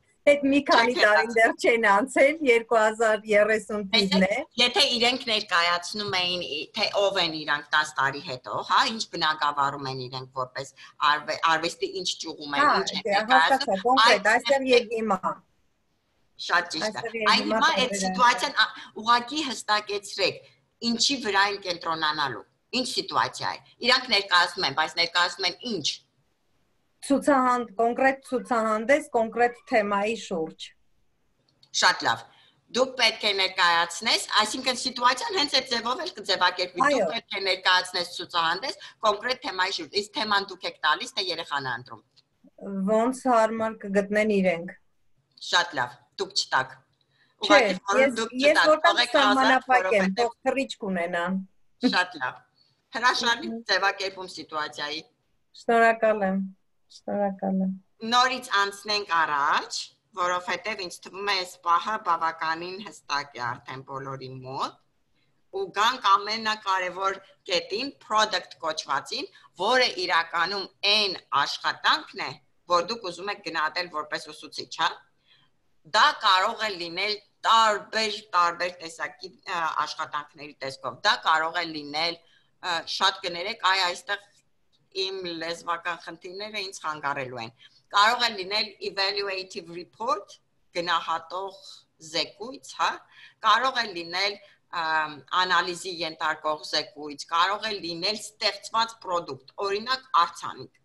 մի քանի տարին դեռ չեն անցել 2030 թիվն է։ Եթե իրենք ներկայացնում էին, թե ով են իրանք 10 տարի հետո, հա, ինչ բնակավարում են իրենք որպես արվեստի ինչ ճյուղում են, ինչ են ներկայացնում, կոնկրետ այստեղ եւ հիմա։ Շատ ճիշտ է։ Այ հիմա այդ սիտուացիան ուղղակի հստակեցրեք, ինչի վրա են կենտրոնանալու, ինչ սիտուացիա է։ Իրանք ներկայացնում են, բայց ներկայացնում են ինչ։ Կոնկրետ ցուցահանդես, կոնկրետ թեմայի շուրջ։ Շատ լավ։ Դուք պետք է ներկայացնես, այսինքն սիտուացիան հենց այդ ձևով էլ կձևակերպվի։ Դուք պետք է ներկայացնես ցուցահանդես կոնկրետ թեմայի շուրջ։ Իսկ թեման դուք եք տալիս, թե երեխան է ընտրում։ Ոնց հարմար կգտնեն իրենք։ Շատ լավ, դուք չտակ։ Չէ, ես որտեղ սահմանափակ եմ, թող թռիչք ունենան։ Շատ լավ։ Հրաշալի ձևակերպում սիտուացիայի։ Շնորհակալ եմ։ Շնորհակալ եմ։ Նորից անցնենք առաջ, որովհետև ինձ թվում է այս պահը բավականին հստակ է արդեն բոլորի մոտ, ու գանք ամենակարևոր կետին, product կոչվածին, որը իրականում այն աշխատանքն է, որ դուք ուզում եք գնահատել որպես ուսուցիչ, հա։ Դա կարող է լինել տարբեր տեսակի աշխատանքների տեսքով։ Դա կարող է լինել, շատ կներեք, այստեղ իմ լեզվական խնդիրները ինձ խանգարելու են։ Կարող է լինել evaluative report, գնահատող զեկույց, հա, կարող է լինել անալիզի ենթարկող զեկույց, կարող է լինել ստեղծված պրոդուկտ, օրինակ արձանիկ։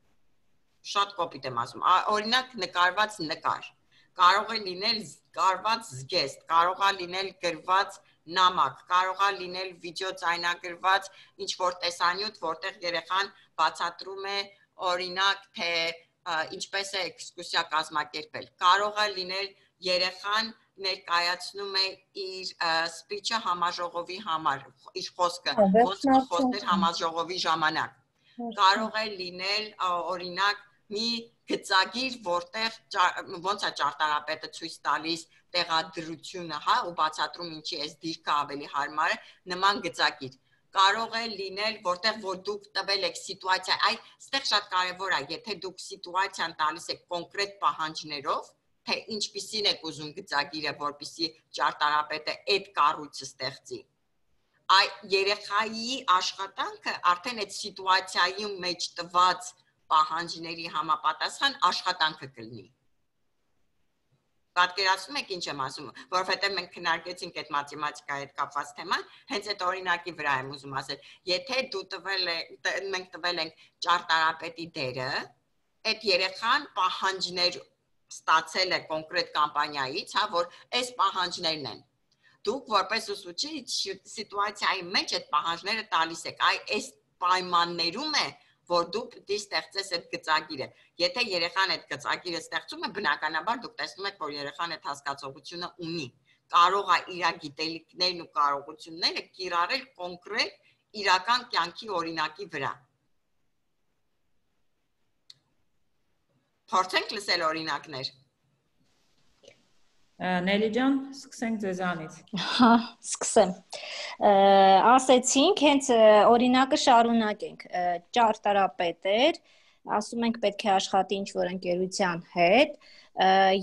Շատ կոպիտ եմ ասում, օրինակ նկարված նկար, կարող է լինել կարված զգեստ, կարող է լինել գրված նամակ, կարող է լինել վիդեո ձայնագրված ինչ-որ տեսանյութ, որտեղ երեխան բացատրում է օրինակ, թե ինչպես է էքսկուրսիա կազմակերպել։ Կարող է լինել երեխան ներկայացնում է իր սպիչը համաժողովի համար, իր խոսքը, ոնց խոսել համաժողովի ժամանակ։ Կարող է լինել օրինակ մի գծագիր, որտեղ ոնց է ճարտարապետը ցույց տալիս տեղադրությունը, հա, ու բացատրում ինչի էս դիրքը ավելի հարմար է, նման գծագիր։ Կարող է լինել, որտեղ որ դուք տվել եք սիտուացիա, այստեղ շատ կարևոր է, եթե դուք սիտուացիան տալիս եք կոնկրետ պահանջներով, թե ինչպիսին եք ուզում գծագիրը, որպեսզի ճարտարապետը այդ կառույցը ստեղծի։ Երեխայի աշխատանքը արդեն այդ սիտուացիայի մեջ տված պահանջների համապատասխան աշխատանքը կլինի։ Պատկերացնում եք ինչ եմ ասում, որովհետև մենք քննարկեցինք այդ մաթեմատիկայի հետ կապված թեման, հենց այդ օրինակի վրա եմ ուզում ասել, եթե մենք տվել ենք ճարտարապետի դերը, այդ երեխան պահանջներ ստացել է կոնկրետ կամպանիայից, հա, որ այս պահանջներն են։ Դուք որպես ուսուցիչ սիտուացիայի մեջ այդ պահանջները տալիս եք, այս պայմաններում է, որ դուք պիտի ստեղծես այդ գծագիրը։ Եթե երեխան այդ գծագիրը ստեղծում է, բնականաբար դուք տեսնում եք, որ երեխան այդ հասկացողությունը ունի։ Կարող է իր գիտելիքներն ու կարողությունները կիրառել կոնկրետ իրական կյանքի օրինակի վրա։ Փորձենք լսել օրինակներ։ Նելի ջան, սկսենք ձեզանից։ Հա, սկսեմ։ Ասեցինք, հենց օրինակը շարունակենք։ Ճարտարապետեր, ասում ենք պետք է աշխատի ինչ-որ ընկերության հետ։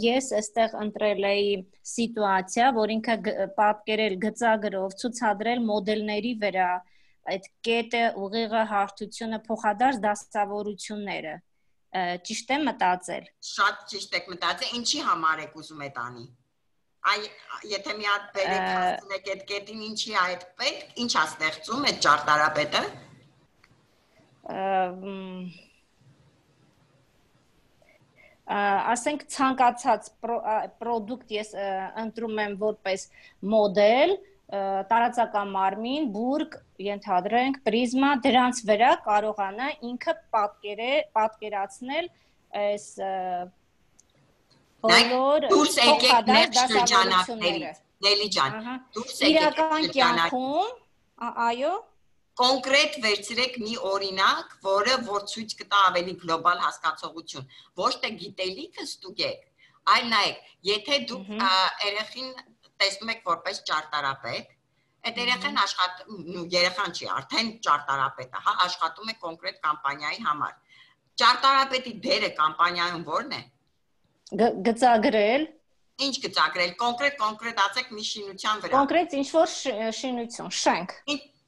Ես այստեղ ընտրել էի սիտուացիա, որ ինքը պատկերել գծագրով, ցուցադրել մոդելների վրա, այդ կետը, ուղիղը, հարթությունը, փոխադարձ դասավորությունները։ Ճիշտ եմ մտածել։ Շատ ճիշտ եք մտածել, ինչի համար եք ուզում այդ անի։ Եթե մի հատ բերեք հասցնեք այդ կետին, ինչի է այդ պետք, ինչ է ստեղծում այդ ճարտարապետը։ Ասենք ցանկացած product ես ընտրում եմ որպես մոդել, տարածական մարմին, բուրգ, ենթադրենք, պրիզմա, դրանց վրա կարողանա ինքը պատկերացնել այս բոլոր դուրս եկեք մեր շրջանակներից, Նելի ջան, դուրս եկեք իրական կյանքում, այո, կոնկրետ վերցրեք մի օրինակ, որ ցույց կտա ավելի գլոբալ հասկացողություն, ոչ թե գիտելիքը ստուգեք, այլ նայեք, եթե դուք երեխին տեսնում եք որպես ճարտարապետ, այդ երեխան չի, արդեն ճարտարապետ է, աշխատում է կոնկրետ կամպանիայի համար։ Ճարտարապետի դերը կամպանիայում ո՞րն է։ Գծագրել։ Ինչ գծագրել, կոնկրետացեք մի շինության վրա։ Կոնկրետ ինչ-որ շինություն, շենք։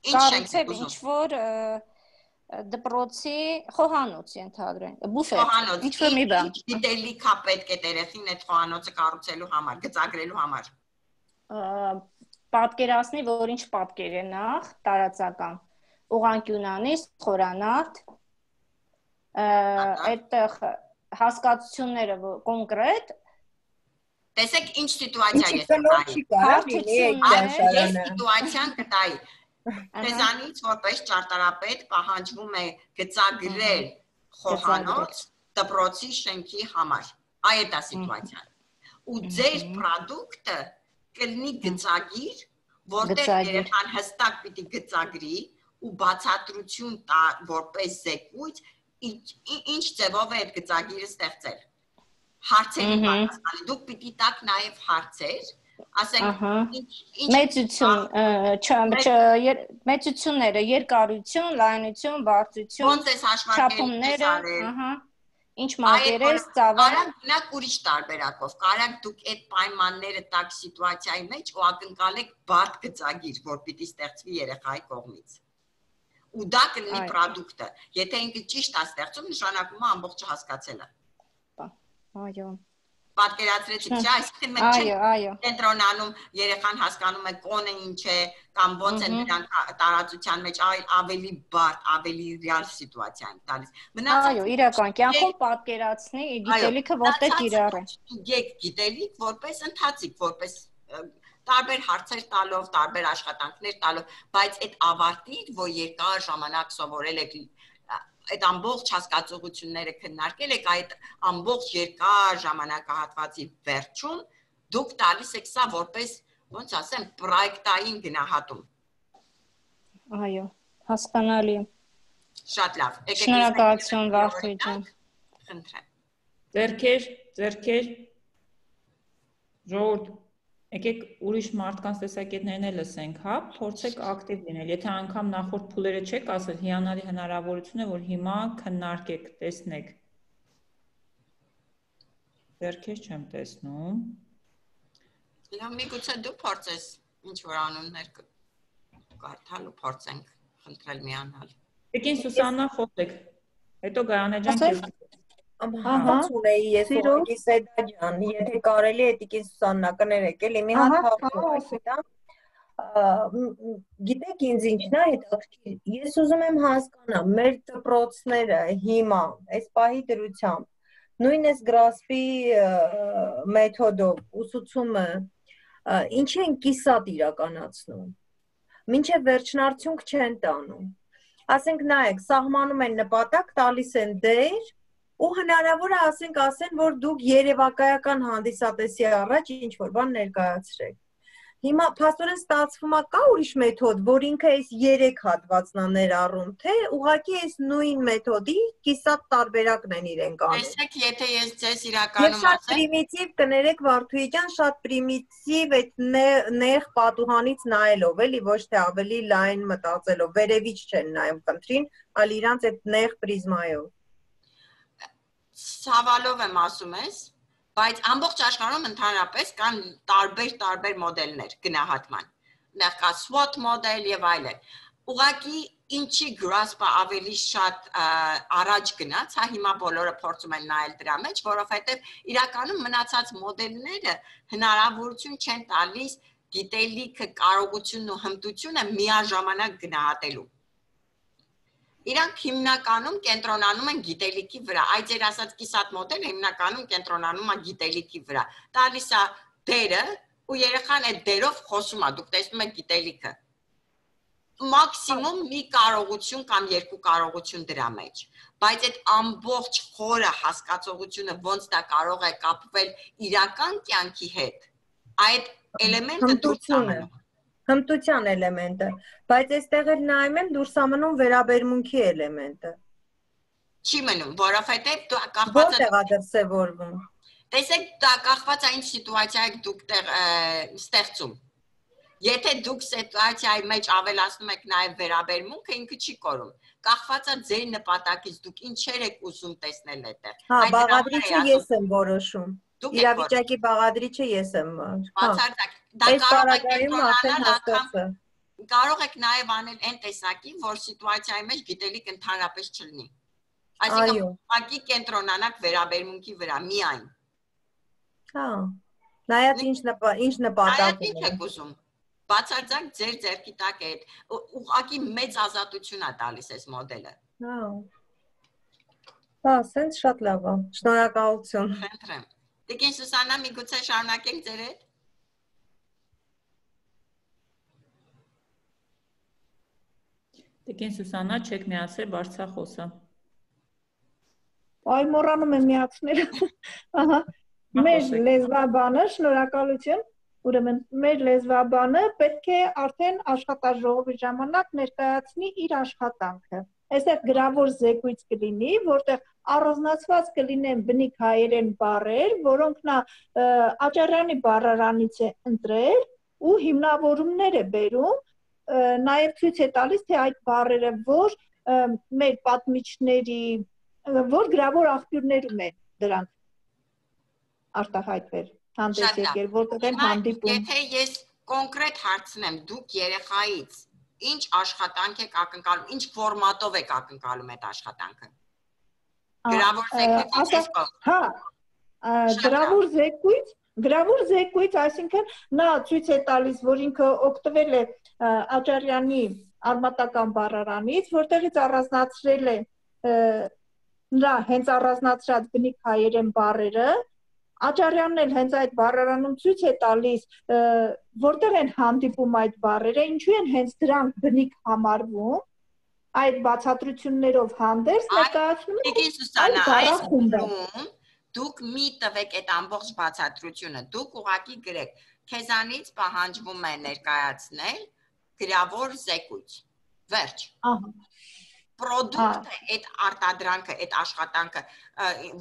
Կառուցել ինչ-որ դպրոցի խոհանոց ենթադրենք, բուֆետ, ինչ-որ մի բան։ Գիտելիք է պետք է երեխին այդ խոհանոցը կառուցելու համար, գծագրելու համար։ Պատկերացնի, որ ինչ պատկեր է նախ, տարածական, ուղղանկյունանիստ, խորանարդ, այդտեղ հասկացությունները կոնկրետ, տեսեք ինչ սիտուացիա ես սիտուացիան կտայի, Տեզանից որպես ճարտարապետ պահանջվում է գծագրել խոհանոց դպրոցի շենքի համար, այդ է սիտուացիան, ու ձեր պրոդուկտը կլինի գծագիր, որտեղ երեխան հստակ պիտի գծագրի ու բացատրություն տա որպես զեկույց, ինչ ձևով է այդ գծագիրը ստեղծել։ Հարցերի պատասխանը, դուք պիտի տաք նաև հարցեր, ասենք մեծությունները, երկարություն, լայնություն, բարձրություն, չափումները, ինչ մակերես, ծավալ։ Կարանք ուրիշ տարբերակով, կարանք դուք այդ պայմանները տաք սիտուացիայի մեջ ու ակնկալեք բարդ գծագիր, որ պիտի ստեղծվի երեխայի կողմից։ Ու դա կլինի պրոդուկտը, եթե ինքը ճիշտ է ստեղծում, նշանակում է ամբողջը հասկացել է։ Այո։ Պատկերացրեցիք, չէ՞, այսինքն մենք չենք կենտրոնանում, երեխան հասկանում է կոնը ինչ է, կամ ոնց են նրանք տարածության մեջ ավելի բարդ, ավելի ռեալ սիտուացիա են տալիս։ Այո, իրական կյանքում պատկերացնի գիտելիքը որտեղ կիրառ է։ Ստուգեք գիտելիք որպես ընթացիկ, որպես տարբեր հարցեր տալով, տարբեր աշխատանքներ տալով, բայց այդ ավարտին, որ երկար ժամանակ սովորել եք այդ ամբողջ հասկացողությունները քննարկել եք այդ ամբողջ երկար ժամանակահատվածի վերջում դուք տալիս եք սա որպես ոնց ասեմ պրոյեկտային գնահատում։ Այո, հասկանալի։ Շատ լավ։ Շնորհակալություն Վարդուհի ջան։ Խնդրեմ։ Ձերքեր։ Ժողովուրդ, եկեք ուրիշ մարդկանց տեսակետներն էլ լսենք, հա, փորձեք ակտիվ լինել։ Եթե անգամ նախորդ փուլերը չեք ասել, հիանալի հնարավորություն է, որ հիմա քննարկեք, տեսնեք։ Ձերքեր չեմ տեսնում։ Լավ, միգուցե դու փորձես ինչ-որ անուններ կարդալ ու փորձենք խնդրել միանալ։ Տիկին Սուսաննա, խոսեք։ Հետո Գայանե ջան քեզ։ Հարց ունեի ես ուղղակի Սեդա ջան, եթե կարելի է Տիկին Սուսաննա կներեք, էլի մի հատ հարց ունեմ։ Գիտեք ինձ ինչն է հետաքրքիր։ Ես ուզում եմ հասկանամ, մեր դպրոցները հիմա այս պահի դրությամբ նույն այս գրասպի մեթոդով ուսուցումը ինչ են կիսատ իրականացնում։ Մինչև վերջնարդյունք չեն տանում։ Ասենք նայեք, սահմանում են նպատակ, տալիս են դեր ու հնարավոր է ասեն, որ դուք երևակայական հանդիսատեսի առաջ ինչ-որ բան ներկայացրեք։ Հիմա փաստորեն ստացվում է կա ուրիշ մեթոդ, որ ինքը այս 3 հատվածն է ներառում, թե ուղղակի այս նույն մեթոդի կիսատ տարբերակն են իրենք անում։ Տեսեք, եթե ես ձեզ իրականում ասեմ։ Եվ շատ պրիմիտիվ կներեք Վարդուհի ջան, շատ պրիմիտիվ այդ նեղ պատուհանից նայելով, էլի ոչ թե ավելի լայն մտածելով, վերևից չեն նայում խնդրին, այլ իրանց այդ նեղ պրիզմայով։ Ցավալով եմ ասում ես, բայց ամբողջ աշխարհում ընդհանրապես կան տարբեր մոդելներ գնահատման։ Նախ կա SWOT մոդել եւ այլն։ ուղղակի ինչի grasp-ը ավելի շատ առաջ գնաց, հա հիմա բոլորը փորձում են նայել դրա մեջ, որովհետև իրականում մնացած մոդելները հնարավորություն չեն տալիս գիտելիքը, կարողությունն ու հմտությունը միաժամանակ գնահատելու։ Իրանք հիմնականում կենտրոնանում են գիտելիքի վրա, այդ ձեր ասած կիսատ մոդելը հիմնականում կենտրոնանում է գիտելիքի վրա, տալիս է դերը ու երեխան այդ դերով խոսում է, դուք տեսնում եք գիտելիքը, մաքսիմում մի կարողություն կամ երկու կարողություն դրա մեջ, բայց այդ ամբողջ խորը հասկացողությունը ոնց դա կարող է կապվել իրական կյանքի հետ, այդ էլեմենտը դուրս ամնում։ Հմտության էլեմենտը, բայց այստեղ էլ նայում եմ դուրս ամնում վերաբերմունքի էլեմենտը։ Չի մնում, որովհետև դու կախված Որտեղ է դրսևորվում։ Տեսեք, դա կախված է ինչ սիտուացիա եք դուք ստեղծում։ Եթե դուք սիտուացիայի մեջ ավելացնում եք նաև վերաբերմունքը, ինքը չի կորում։ Կախված է ձեր նպատակից, դուք ինչեր եք ուզում տեսնել այդտեղ։ Հա, բաղադրիչը ես եմ որոշում։ Իրավիճակի բաղադրիչը ես եմ։ Բացարձակ, դա կարող եք նաև անել այն տեսակի, որ սիտուացիայի մեջ գիտելիք ընդհանրապես չլինի։ Այսինքն, ուղղակի կենտրոնանաք վերաբերմունքի վրա միայն։ Հա։ Նայած ինչ նպատակ եք ուզում։ Բացարձակ ձեր ձեռքի տակ է, ուղղակի մեծ ազատություն է տալիս այս մոդելը։ Հա։ Հա, սենց շատ լավ է։ Շնորհակալություն։ Խնդրեմ։ Տիկին Սուսաննա, միգուցե շարունակենք ձեր հետ։ Տիկին Սուսաննա, չեք միացրել բարձրախոսը։ Այ մոռանում եմ միացնել։ Ահա, մեր լեզվաբանը, շնորհակալություն։ Ուրեմն մեր լեզվաբանը պետք է արդեն աշխատաժողովի ժամանակ ներկայացնի իր աշխատանքը։ Այստեղ գրավոր զեկույց կլինի, որտեղ առանձնացված կլինեն բնիկ հայերեն բառեր, որոնք նա Աճարյանի բառարանից է ընտրել ու հիմնավորումներ է բերում, նաև ցույց է տալիս, թե այդ բառերը որ մեր պատմիչների, որ գրավոր աղբյուրներում են դրանք արտահայտվել, հանդես եկել, որտեղ են հանդիպում։ Եթե ես կոնկրետ հարցնեմ, դուք երեխայից ինչ աշխատանք եք ակնկալում, ինչ ֆորմատով եք ակնկալում այդ աշխատանքը։ Գրավոր զեկույց, հա, գրավոր զեկույց, այսինքն նա ցույց է տալիս, որ ինքը օգտվել է Աճարյանի արմատական բառարանից, որտեղից առանձնացրել է նրա հենց առանձնացրած բնիկ հայերեն բառերը, Աճարյանն էլ հենց այդ բառարանում ցույց է տալիս, որտեղ են հանդիպում այդ բառերը, ինչու են հենց դրանք բնիկ համարվում, այդ բացատրություններով հանդերձ ներկայացնում են բառախումբը։ Դուք մի տվեք այդ ամբողջ բացատրությունը, դուք ուղղակի գրեք, քեզանից պահանջվում է ներկայացնել գրավոր զեկույց։ Վերջ։ Պրոդուկտը, այդ արտադրանքը, այդ աշխատանքը,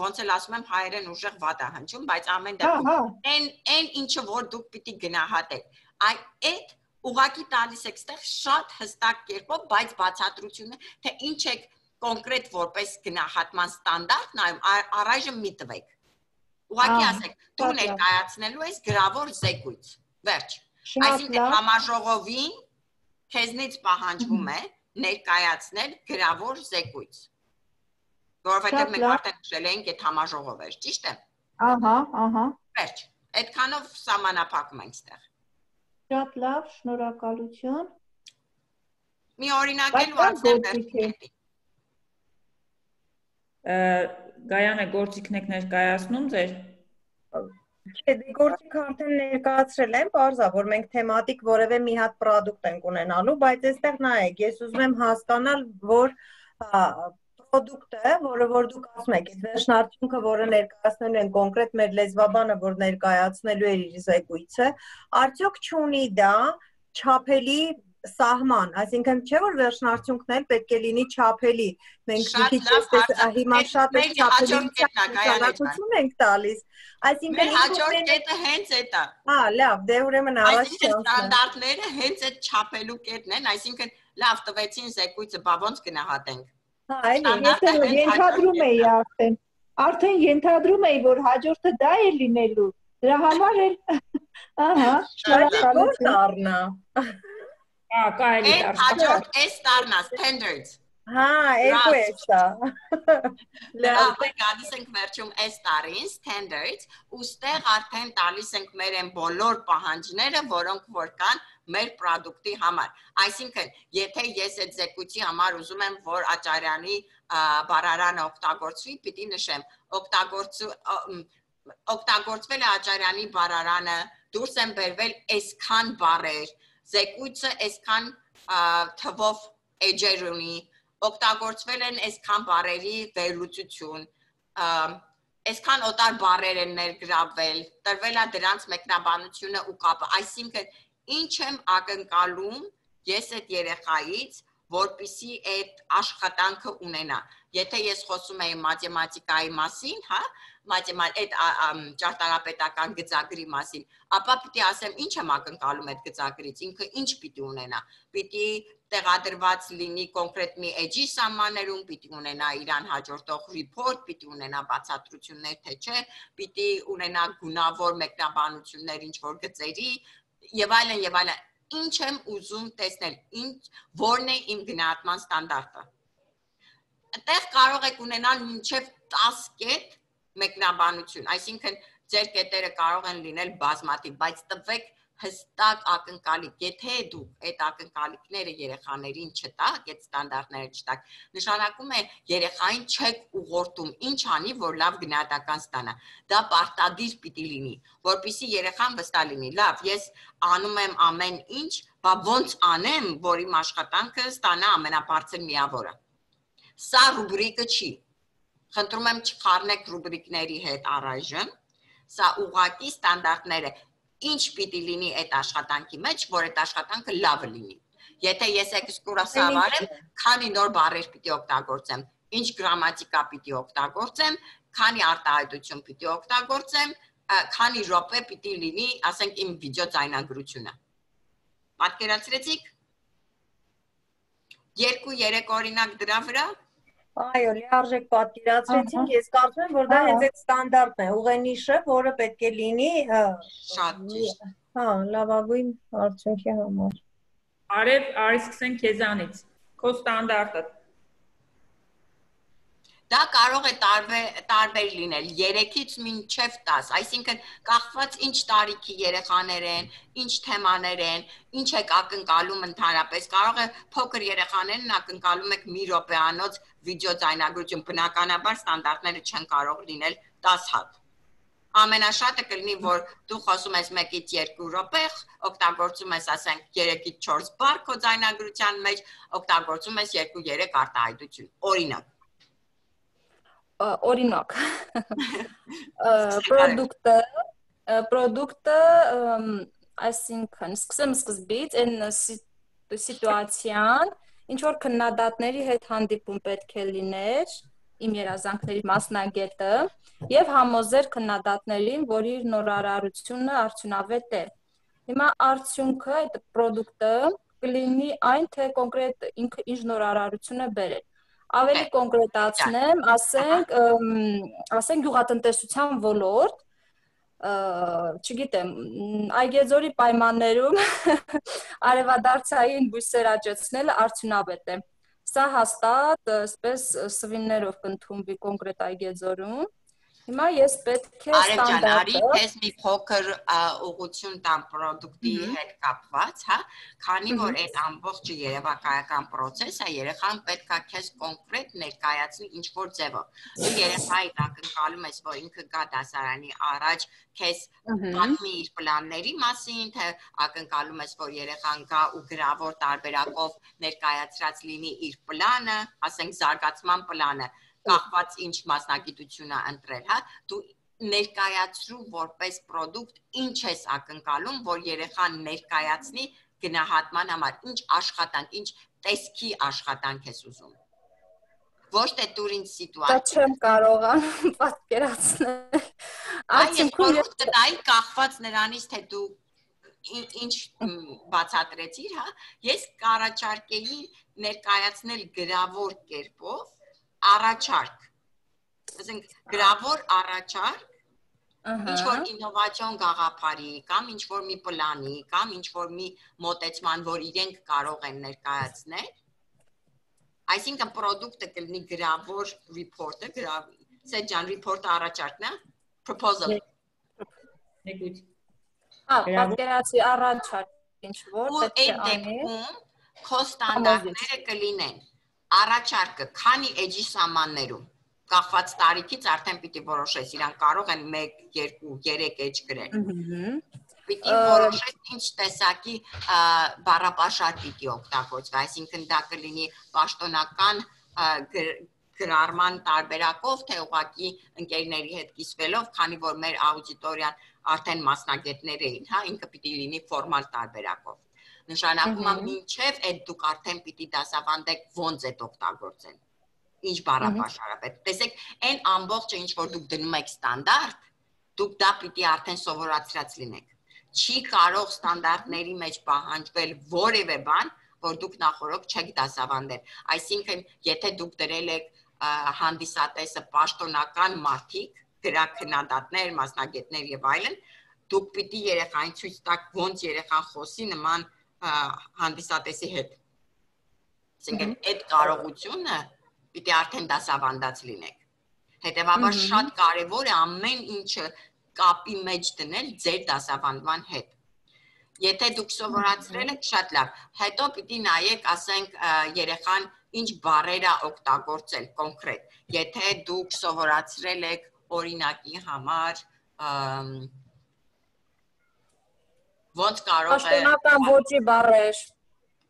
ոնց էլ ասում եմ, հայերեն ուժեղ վատ է հնչում, բայց ամեն դեպքում այն ինչը որ դուք պիտի գնահատեք, այդ ուղղակի տալիս եք ստեղ շատ հստակ կերպով, բայց բացատրությունը, թե ինչ եք կոնկրետ որպես գնահատման ստանդարտ նայում, առայժմ մի տվեք։ Ուղղակի ասեք, դու ներկայացնելու ես գրավոր զեկույց։ Վերջ։ Այսինքն համաժողովին քեզնից պահանջվում է ներկայացնել գրավոր զեկույց։ Որովհետև մենք արդեն նշել ենք այդ համաժողով էր, ճիշտ է։ Ահա։ Վերջ։ Այդքանով սահմանափակում ենք ստեղ։ Շատ լավ, շնորհակալություն։ Մի օրինակ էլ ու անցնենք։ Գայանը գործիքն եք ներկայացնում ձեր։ Չէ, դե գործիքը արդեն ներկայացրել եմ, բարձա, որ մենք թեմատիկ որևէ մի հատ պրոդուկտ ենք ունենալու, բայց այստեղ նայեք, ես ուզում եմ հասկանալ, որ պրոդուկտը, որը որ դուք ասում եք, այդ վերջնարդյունքը, որը ներկայացնելու են կոնկրետ մեր լեզվաբանը, որ ներկայացնելու է իր զեկույցը, արդյոք չունի դա չափելի սահման, այսինքն չէ որ վերջնարդյունքն էլ պետք է լինի չափելի։ Մենք հիմա շատ չափելիություն ենք տալիս։ Այսինքն հաջորդ կետը հենց այդ է։ Հա, լավ, դե ուրեմն առաջ ստանդարտները հենց այդ չափելու կետն են, այսինքն լավ տվեցին զեկույցը, բա ոնց գնահատենք։ Հա, այլ ենթադրում էի արդեն ենթադրում էի, որ հաջորդը դա է լինելու։ Դրա համար էլ ահա, շնորհակալություն։ Հա, կարելի է հաջորդ S դառնաս standards։ Հա, երկու է սա։ Լավ, գալիս ենք վերջում S տարին standards, ուստեղ արդեն տալիս ենք մեր այն բոլոր պահանջները, որոնք որ կան մեր product-ի համար։ Այսինքն, եթե ես այդ զեկույցի համար ուզում եմ, որ Աճարյանի բառարանը օգտագործվի, պիտի նշեմ, օգտագործվել է Աճարյանի բառարանը, դուրս են բերվել այսքան բառեր, զեկույցը այսքան թվով էջեր ունի, օգտագործվել են այսքան բառերի վերլուծություն, այսքան օտար բառեր են ներգրավվել, տրվել է դրանց մեկնաբանությունը ու կապը, այսինքն ինչ եմ ակնկալում ես այդ երեխայից, որպեսզի այդ աշխատանքը ունենա։ Եթե ես խոսում եմ մաթեմատիկայի մասին, հա, այդ ճարտարապետական գծագրի մասին, ապա պիտի ասեմ ինչ եմ ակնկալում այդ գծագրից, ինքը ինչ պիտի ունենա։ Պիտի տեղադրված լինի կոնկրետ մի էջի սահմաններում, պիտի ունենա իրան հաջորդող report, պիտի ունենա բացատրություններ, թե չէ, պիտի ունենա գունավոր մեկնաբանություններ ինչ որ գծերի եւ այլն եւ այլն։ Ինչ եմ ուզում տեսնել, որն է իմ գնահատման ստանդարտը։ Այդտեղ կարող եք ունենալ մինչև 10 կետ մեկնաբանություն, այսինքն ձեր կետերը կարող են լինել բազմաթիվ, բայց տվեք հստակ ակնկալիք, եթե դուք այդ ակնկալիքները երեխաներին չտաք, այդ ստանդարտները չտաք, նշանակում է երեխային չեք ուղղորդում, ինչ անի, որ լավ գնահատական ստանա։ Դա պարտադիր պիտի լինի, որպեսզի երեխան վստահ լինի։ Լավ, ես անում եմ ամեն ինչ, բա ոնց անեմ, որ իմ աշխատանքը ստանա ամենաբարձր միավորը։ Սա ռուբրիկը չի։ Խնդրում եմ չխառնեք ռուբրիկների հետ առայժմ, սա ուղղակի ստանդարտները ինչ պիտի լինի այդ աշխատանքի մեջ, որ այդ աշխատանքը լավը լինի։ Եթե ես էքսկուրսիվ եմ, քանի նոր բառեր պիտի օգտագործեմ, ինչ գրամատիկա պիտի օգտագործեմ, քանի արտահայտություն պիտի օգտագործեմ, քանի րոպե պիտի լինի, ասենք իմ վիդեո ձայնագրությունը։ Պատկերացրեցիք 2-3 օրինակ դրա վրա։ Այո, լիարժեք պատկերացրեցինք, ես կարծում եմ, որ դա հենց այդ ստանդարտն է, ուղենիշը, որը պետք է լինի, շատ ճիշտ։ Հա, լավագույն արդյունքի համար։ Արի սկսենք քեզանից։ Քո ստանդարտը։ Դա կարող է տարբեր լինել 3-ից մինչև 10, այսինքն կախված ինչ տարիքի երեխաներ են, ինչ թեմաներ են, ինչ եք ակնկալում ընդհանրապես, կարող է փոքր երեխաներն ակնկալում եք մի րոպեանոց վիդեո ձայնագրություն, բնականաբար ստանդարտները չեն կարող լինել 10 հատ։ Ամենաշատը կլինի, որ դու խոսում ես 1-ից 2 րոպե, օգտագործում ես, ասենք, 3-ից 4 բառ քո ձայնագրության մեջ, օգտագործում ես 2-3 արտահայտություն, օրինակ պրոդուկտը այսինքն սկսեմ սկզբից այն սիտուացիան ինչ որ քննադատների հետ հանդիպում պետք է լիներ իմ երազանքների մասնագետը եւ համոզեր քննադատներին որ իր նորարարությունը արդյունավետ է հիմա արդյունքը այդ պրոդուկտը կլինի այն թե կոնկրետ ինքը ինչ նորարարություն է բերել Ավելի կոնկրետացնեմ, ասենք գյուղատնտեսության ոլորտ, չգիտեմ, Այգեձորի պայմաններում արևադարձային բույսեր աճեցնելը արդյունավետ է։ Սա հաստատ, այսպես սվիններով կընդունվի կոնկրետ Այգեձորում։ Հիմա ես պետք է ստանդարտը քեզ մի փոքր ուղղություն տամ պրոդուկտի հետ կապված, հա, քանի որ այդ ամբողջը երևակայական process-ը երեխան պետք է քեզ կոնկրետ ներկայացնի ինչ որ ձևով։ Դու երեխայի ակնկալում ես, որ ինքը գա դասարանի առաջ քեզ պատմի իր պլանների մասին, թե ակնկալում ես, որ երեխան գա ու գրավոր տարբերակով ներկայացրած լինի իր պլանը, ասենք զարգացման պլանը կախված ինչ մասնագիտություն է ընտրել, հա, դու ներկայացրու որպես պրոդուկտ ինչ ես ակնկալում, որ երեխան ներկայացնի գնահատման համար, ինչ աշխատանք, ինչ տեսքի աշխատանք ես ուզում։ Ոչ թե դուր ինձ սիտուացիա։ Դա չեմ կարողանում պատկերացնել։ Այսինքն կտայի կախված նրանից, թե դու ինչ բացատրեցիր, հա, ես կառաջարկեի ներկայացնել գրավոր կերպով առաջարկ, ասենք գրավոր առաջարկ, ինչ որ ինովացիոն գաղափարի կամ ինչ որ մի պլանի կամ ինչ որ մի մոտեցման, որ իրենք կարող են ներկայացնել, այսինքն product-ը կլինի գրավոր report-ը, Սեջան report-ը առաջարկն է, proposal։ Նեկույց։ Պատկերացի առաջարկ ինչ որ պետք է անի։ Քո ստանդարտները կլինեն առաջարկը քանի էջի սահմաններում կախված տարիքից արդեն պիտի որոշես իրանք կարող են 1, 2, 3 էջ գրել։ Պիտի որոշես ինչ տեսակի բառապաշար պիտի օգտագործվի, այսինքն դա կլինի պաշտոնական գրառման տարբերակով, թե ուղղակի ընկերների հետ կիսվելով, քանի որ մեր աուդիտորիան արդեն մասնագետներ էին, հա, ինքը պիտի լինի ֆորմալ տարբերակով։ Նշանակում է մինչև այդ դուք արդեն պիտի դասավանդեք ոնց է օգտագործել։ Ինչ բառապաշար է պետք։ Տեսեք, այն ամբողջը ինչ որ դուք դնում եք ստանդարտ, դուք դա պիտի արդեն սովորացրած լինեք։ Չի կարող ստանդարտների մեջ պահանջվել որևէ բան, որ դուք նախորդ չեք դասավանդել։ Այսինքն, եթե դուք դրել եք հանդիսատեսը պաշտոնական մարդիկ, գրաքննադատներ, մասնագետներ եւ այլն, դուք պիտի երեխային ցույց տաք ոնց երեխան խոսի նման հանդիսատեսի հետ։ Այսինքն, այդ կարողությունը պիտի արդեն դասավանդած լինեք։ Հետևաբար շատ կարևոր է ամեն ինչը կապի մեջ դնել ձեր դասավանդման հետ։ Եթե դուք սովորացրել եք, շատ լավ, հետո պիտի նայեք, ասենք, երեխան ինչ բառեր է օգտագործել կոնկրետ։ Եթե դուք սովորացրել եք օրինակի համար ոնց կարող է պաշտոնական ոճի բառեր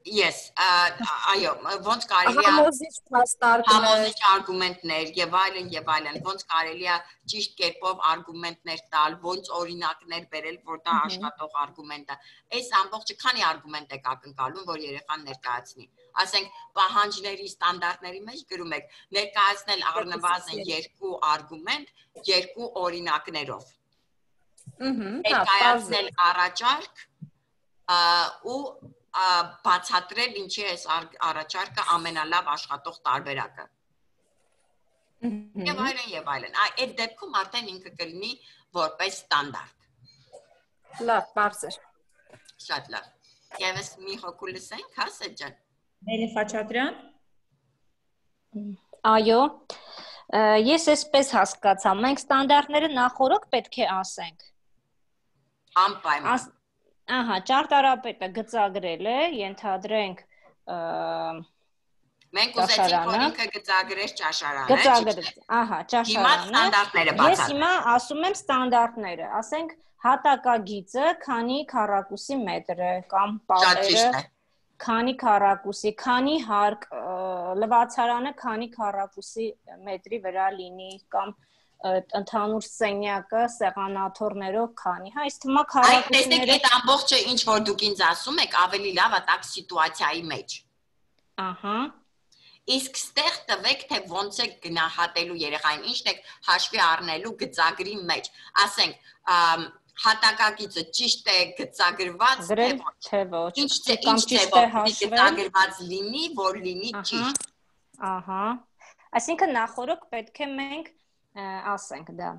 Yes, այո, ոնց կարելի է համոզիչ արգումենտներ եւ այլն, ոնց կարելի է ճիշտ կերպով արգումենտներ տալ, ոնց օրինակներ բերել, որ դա աշխատող արգումենտ է։ Այս ամբողջը քանի արգումենտ եք ակնկալում, որ երեխան ներկայացնի։ Ասենք, պահանջների ստանդարտների մեջ գրում եք ներկայացնել առնվազն 2 արգումենտ, 2 օրինակներով։ Ներկայացնել առաջարկ ու բացատրել ինչի է առաջարկը ամենալավ աշխատող տարբերակը։ Եվ այլն։ Այդ դեպքում արդեն ինքը կլինի որպես ստանդարտ։ Լավ, բարձր։ Շատ լավ։ Եվս մի հոգու լսենք, հա, Սեջան։ Նելի Խաչատրյան։ Այո։ Ես այսպես հասկացա, մենք ստանդարտները նախորդ պետք է ասենք։ Անպայման։ Ահա, ճարտարապետը գծագրել է, ենթադրենք մենք ուզեցինք, որ ինքը գծագրեր ճաշարանը։ Գծագրել, ահա, ճաշարանը։ Հիմա ստանդարտները բացատրեմ։ Ես հիմա ասում եմ ստանդարտները, ասենք հատակագիծը քանի քառակուսի մետր է կամ պատերը քանի քառակուսի, քանի հարկ, լվացարանը քանի քառակուսի մետրի վրա լինի կամ ընդհանուր սենյակը սեղանաթոռներով քանի, հա, այս թվում է քառակուսիները։ Այդ ամբողջը ինչ որ դուք ինձ ասում եք, ավելի լավ է տակ սիտուացիայի մեջ։ Ահա։ Իսկ ստեղ տվեք, թե ոնց է գնահատելու երեխային, ինչն եք հաշվի առնելու գծագրի մեջ։ Ասենք, հատակագիծը ճիշտ է գծագրված, թե ոչ։ Ինչ է գծագրված լինի, որ լինի ճիշտ։ Ահա։ Այսինքն նախորդ պետք է մենք ասենք դա։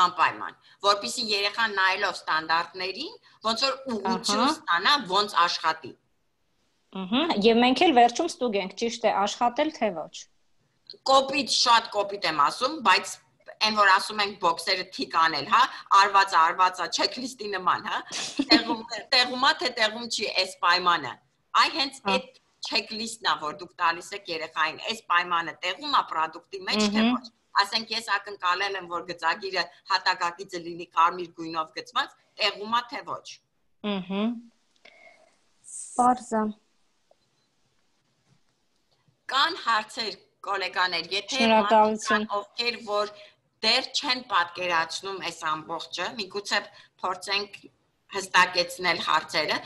Անպայման, որպեսզի երեխան նայելով ստանդարտներին, ոնց որ ուղղություն ստանա, ոնց աշխատի։ Եվ մենք էլ վերջում ստուգենք, ճիշտ է աշխատել, թե ոչ։ Կոպիտ, շատ կոպիտ եմ ասում, բայց այն որ ասում ենք բոքսերը թիկ անել, հա, արվածա, չեքլիստի նման, հա, տեղումա թե տեղում չի այս պայմանը։ Այ հենց այդ չեքլիստն է, որ դուք տալիս եք երեխային, այս պայմանը տեղում է պրոդուկտի մեջ, թե ոչ։ Ասենք ես ակնկալել եմ, որ գծագիրը հատակագիծը լինի կարմիր գույնով գծված, տեղում է թե ոչ։ Պարզա։ Կան հարցեր, գոլեգաներ, եթե Շնորհակալություն, ովքեր որ դեռ չեն պատկերացնում այս ամբողջը, միգուցե փորձենք հստակեցնել հարցերը։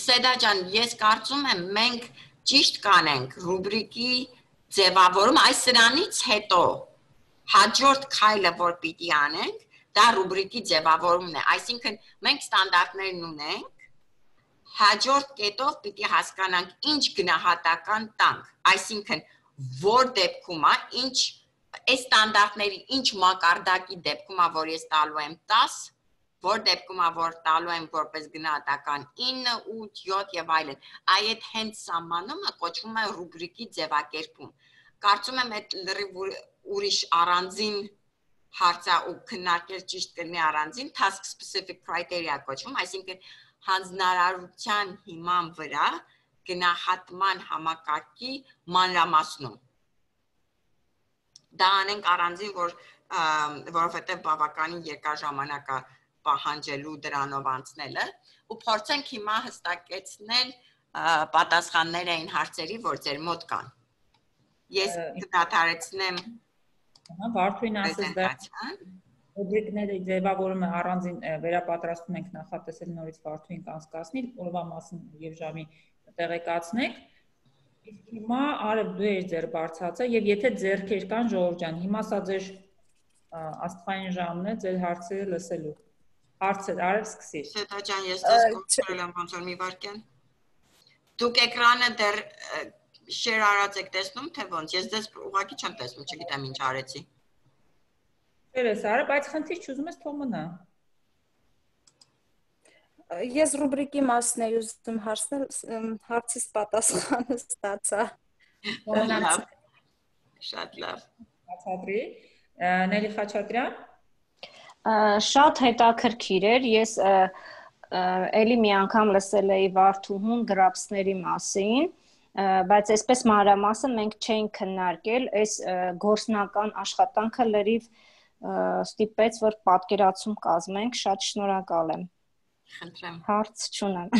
Սեդա ջան, ես կարծում եմ մենք ճիշտ կանենք ռուբրիկի ձևավորում, այս սրանից հետո հաջորդ քայլը որ պիտի անենք, դա ռուբրիկի ձևավորումն է, այսինքն մենք ստանդարտներն ունենք, հաջորդ կետով պիտի հասկանանք ինչ գնահատական տանք, այսինքն որ դեպքում է, ինչ այս ստանդարտների ինչ մակարդակի դեպքում է, որ ես տալու եմ 10, որ դեպքում է, որ տալու եմ որպես գնահատական 9, 8, 7 եւ այլն։ Այդ հենց սահմանումը կոչվում է ռուբրիկի ձևակերպում։ Կարծում եմ այդ լրիվ ուրիշ առանձին հարցը ու քննարկել ճիշտ կլինի առանձին task specific criteria կոչվում, այսինքն հանձնարարության հիման վրա գնահատման համակարգի մանրամասնում։ Դա անենք առանձին, որովհետև բավականին երկար ժամանակ է պահանջելու դրանով անցնելը ու փորձենք հիմա հստակեցնել պատասխաններ այն հարցերի, որ ձեր մոտ կան։ Ես կդադարեցնեմ Վարդուին ասես դա ռուբրիկները ձևավորում է առանձին վերապատրաստում ենք նախատեսել նորից Վարդուին կանցկացնի, օրվա մասին եւ ժամի տեղեկացնեք։ Իսկ հիմա Արև դու ես ձեր բարձացը եւ եթե ձեռքեր կան Ժողով ջան, հիմա սա ձեր աստղային ժամն է ձեր հարցերը լսելու։ Հարցեր, Արև սկսիր։ Սետա ջան, ես դες կոչել եմ ոնց որ մի վարքյան։ Դուք էկրանը դեռ share արած եք տեսնում, թե ոնց։ Ես դες ուղղակի չեմ տեսնում, չգիտեմ ինչ արեցի։ Երես Արև, բայց խնդիր չուզում ես թող մնա։ Ես ռուբրիկի մասն էի ուզում հարցնել, հարցից պատասխանը ստացա։ Շատ լավ։ Բացատրի։ Նելի Խաչատրյան Շատ հետաքրքիր էր, ես էլի մի անգամ լսել էի Վարդուհուն գրապսների մասին, բայց այսպես մանրամասն մենք չենք քննարկել, այս գործնական աշխատանքը լրիվ ստիպեց, որ պատկերացում կազմենք, շատ շնորհակալ եմ։ Խնդրեմ։ Հարց չունեմ։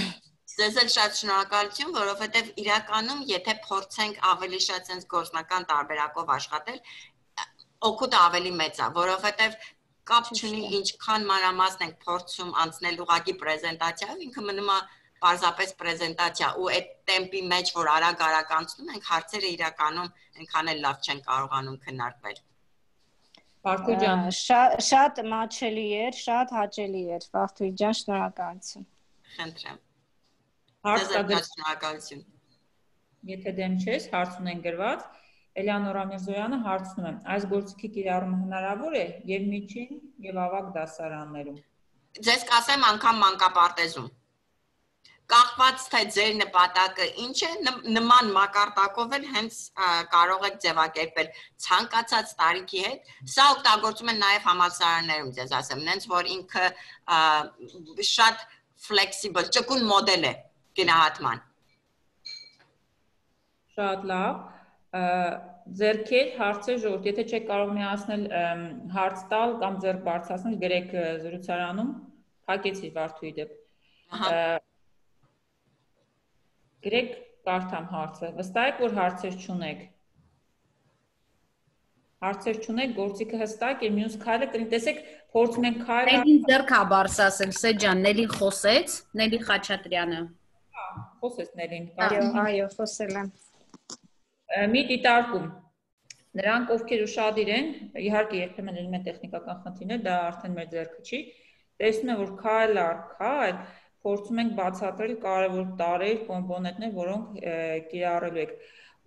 Ձեզ էլ շատ շնորհակալություն, որովհետև իրականում եթե փորձենք ավելի շատ sense գործնական տարբերակով աշխատել, օգուտը ավելի մեծ է, որովհետև կապ չունի ինչքան մանրամասն ենք փորձում անցնել ուղղակի պրեզենտացիայով, ինքը մնում է պարզապես պրեզենտացիա ու այդ տեմպի մեջ, որ արագ անցնում ենք, հարցերը իրականում այնքան էլ լավ չեն կարողանում քննարկվել։ Վարդուհի ջան, շատ մաչելի էր, շատ հաճելի էր, Վարդուհի ջան, շնորհակալություն։ Խնդրեմ։ Հարց կա շնորհակալություն։ Եթե դեմ չես, հարց ունեն գրված, Էլեանորա Միրզոյանը հարցնում է, այս գործիքի կիրառումը հնարավոր է եւ միջին եւ ավագ դասարաններում։ Ձեզ կասեմ անգամ մանկապարտեզում։ Կախված թե ձեր նպատակը ինչ է, նման մակարդակով էլ հենց կարող եք ձևակերպել ցանկացած տարիքի հետ։ Սա օգտագործում են նաեւ համալսարաններում, ձեզ ասեմ, նենց որ ինքը շատ flexible, ճկուն մոդել է գնահատման։ Շատ լավ։ Ձերքեր, հարցեր ժողովուրդ, եթե չեք կարող միացնել հարց տալ կամ ձեռք բարձրացնել, գրեք զրուցարանում, փակեցի Վարդուհի դեպ։ Գրեք կարդամ հարցը։ Վստահ եք, որ հարցեր չունեք։ Հարցեր չունեք, գործիքը հստակ է, մյուս քայլը կլինի, տեսեք, փորձում ենք քայլ։ Նելին ձեռք է բարձրացել, Սեջան, Նելին խոսեց, Նելի Խաչատրյանը։ Խոսեց Նելին։ Այո, խոսել եմ։ Մի դիտարկում։ Նրանք ովքեր ուշադիր են, իհարկե երբեմն լինում են տեխնիկական խնդիրներ, դա արդեն մեր ձեռքը չի։ Տեսնում եմ, որ քայլ առ քայլ փորձում ենք բացատրել կարևոր տարրեր, կոմպոնենտներ, որոնք կիրառելու եք։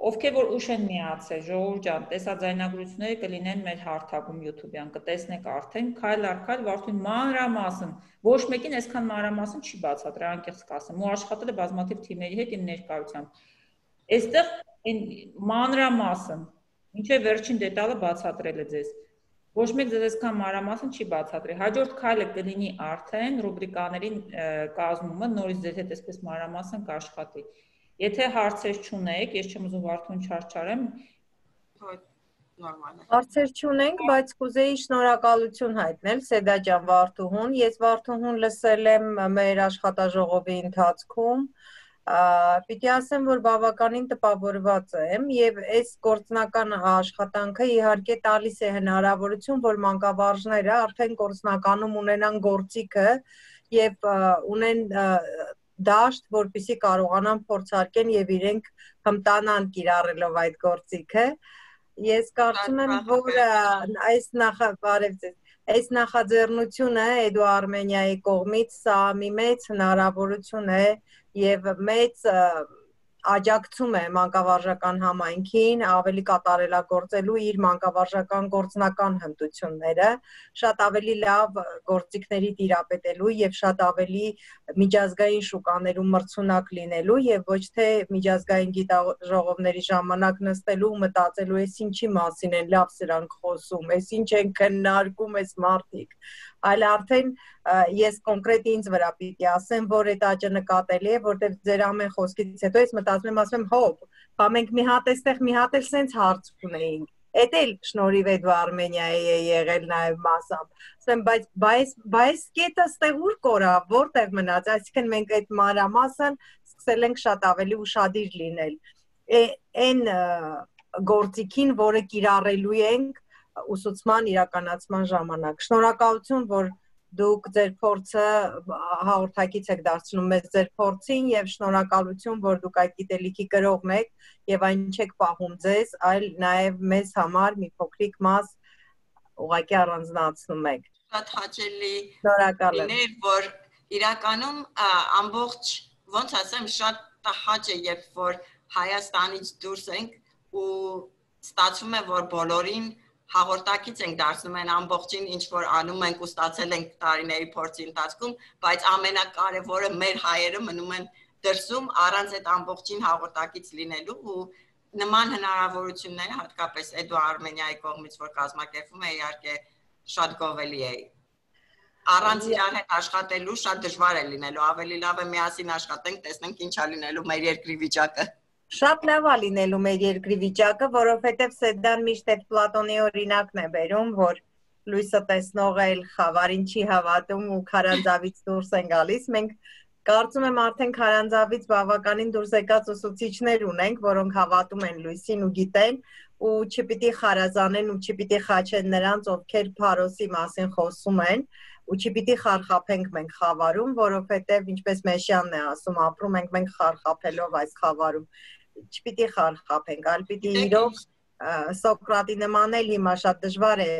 Ովքեր որ ուշ են միացել, ժողովուրդ ջան, տեսաձայնագրությունները կլինեն մեր հարթակում YouTube-յան, կտեսնեք արդեն քայլ առ քայլ Վարդուհին մանրամասն, ոչ մեկին այսքան մանրամասն չի բացատրել, անկեղծ կասեմ, ու աշխատել է բազմաթիվ թիմերի հետ իմ ներկայությամբ։ Այստեղ մանրամասն, ինչեւ վերջին դետալը բացատրել է ձեզ։ Ոչ մեկ ձեզ այսքան մանրամասն չի բացատրի։ Հաջորդ քայլը կլինի արդեն ռուբրիկաների կազմումը, նորից ձեզ հետ այսպես մանրամասն կաշխատի։ Եթե հարցեր չունեք, ես չեմ ուզում Վարդուհուն չարչարեմ։ Հարցեր չունենք, բայց կուզեի շնորհակալություն հայտնել Սեդա ջան Վարդուհուն։ Ես Վարդուհուն լսել եմ մեր աշխատաժողովի ընթացքում։ Պիտի ասեմ, որ բավականին տպավորված եմ եւ այս գործնական աշխատանքը իհարկե տալիս է հնարավորություն, որ մանկավարժները արդեն գործնականում ունենան գործիքը եւ ունեն դաշտ, որպեսզի կարողանան փորձարկեն եւ իրենք հմտանան կիրառելով այդ գործիքը։ Ես կարծում եմ, որ այս նախաձեռնությունը Էդու Արմենիայի կողմից սա մի մեծ հնարավորություն է եւ մեծ աջակցում է մանկավարժական համայնքին ավելի կատարելագործելու իր մանկավարժական գործնական հմտությունները, շատ ավելի լավ գործիքների տիրապետելու եւ շատ ավելի միջազգային շուկաներում մրցունակ լինելու եւ ոչ թե միջազգային գիտաժողովների ժամանակ նստելու ու մտածելու էս ինչի մասին են լավ սրանք խոսում, էս ինչ են քննարկում էս մարդիկ, այլ արդեն ես կոնկրետ ինձ վրա պիտի ասեմ, որ այդ աճը նկատելի է, որտեղ ձեր ամեն խոսքից հետո ես մտածում եմ, ասում եմ, հոп, բա մենք մի հատ էլ սենց հարց ունեինք, էդ էլ շնորհիվ է դու Արմենիայի է եղել նաև մասամբ, ասեմ, բայց կետը ստեղ ուր կորա, որտեղ մնաց, այսինքն մենք այդ մանրամասն սկսել ենք շատ ավելի ուշադիր լինել, այն գործիքին, որը կիրառելու ենք ուսուցման իրականացման ժամանակ, շնորհակալություն, որ դուք ձեր փորձը հաղորդակից եք դարձնում մեզ ձեր փորձին եւ շնորհակալություն, որ դուք այդ գիտելիքի կրողն եք եւ այն չեք պահում ձեզ, այլ նաեւ մեզ համար մի փոքրիկ մաս ուղղակի առանձնացնում եք։ Շատ հաճելի Շնորհակալ եմ։ Որ իրականում ամբողջ ոնց ասեմ, շատ հաճ է, երբ որ Հայաստանից դուրս ենք ու ստացվում է, որ բոլորին հաղորդակից ենք դարձնում են ամբողջին, ինչ որ անում ենք ու ստացել ենք տարիների փորձի ընթացքում, բայց ամենակարևորը մեր հայերը մնում են դրսում առանց այդ ամբողջին հաղորդակից լինելու ու նման հնարավորությունները հատկապես Էդու Արմենիայի կողմից, որ կազմակերպվում է, իհարկե շատ գովելի է։ Առանց իրար հետ աշխատելու շատ դժվար է լինելու, ավելի լավ է միասին աշխատենք, տեսնենք ինչ է լինելու մեր երկրի վիճակը։ Շատ լավ է լինելու մեր երկրի վիճակը, որովհետև Սեդան միշտ այդ Պլատոնի օրինակն է բերում, որ լույսը տեսնողը էլ խավարին չի հավատում ու քարանձավից դուրս են գալիս։ Մենք կարծում եմ արդեն քարանձավից բավականին դուրս եկած ուսուցիչներ ունենք, որոնք հավատում են լույսին ու գիտեն ու չպիտի խարազանեն ու չպիտի խաչեն նրանց, ովքեր Փարոսի մասին խոսում են ու չպիտի խարխափենք մենք խավարում, որովհետև ինչպես Մեշյանն է ասում, ապրում ենք մենք խարխափելով այս խավարում, չպիտի խարխափենք, այլ պիտի իրոք Սոկրատի նման էլ հիմա շատ դժվար է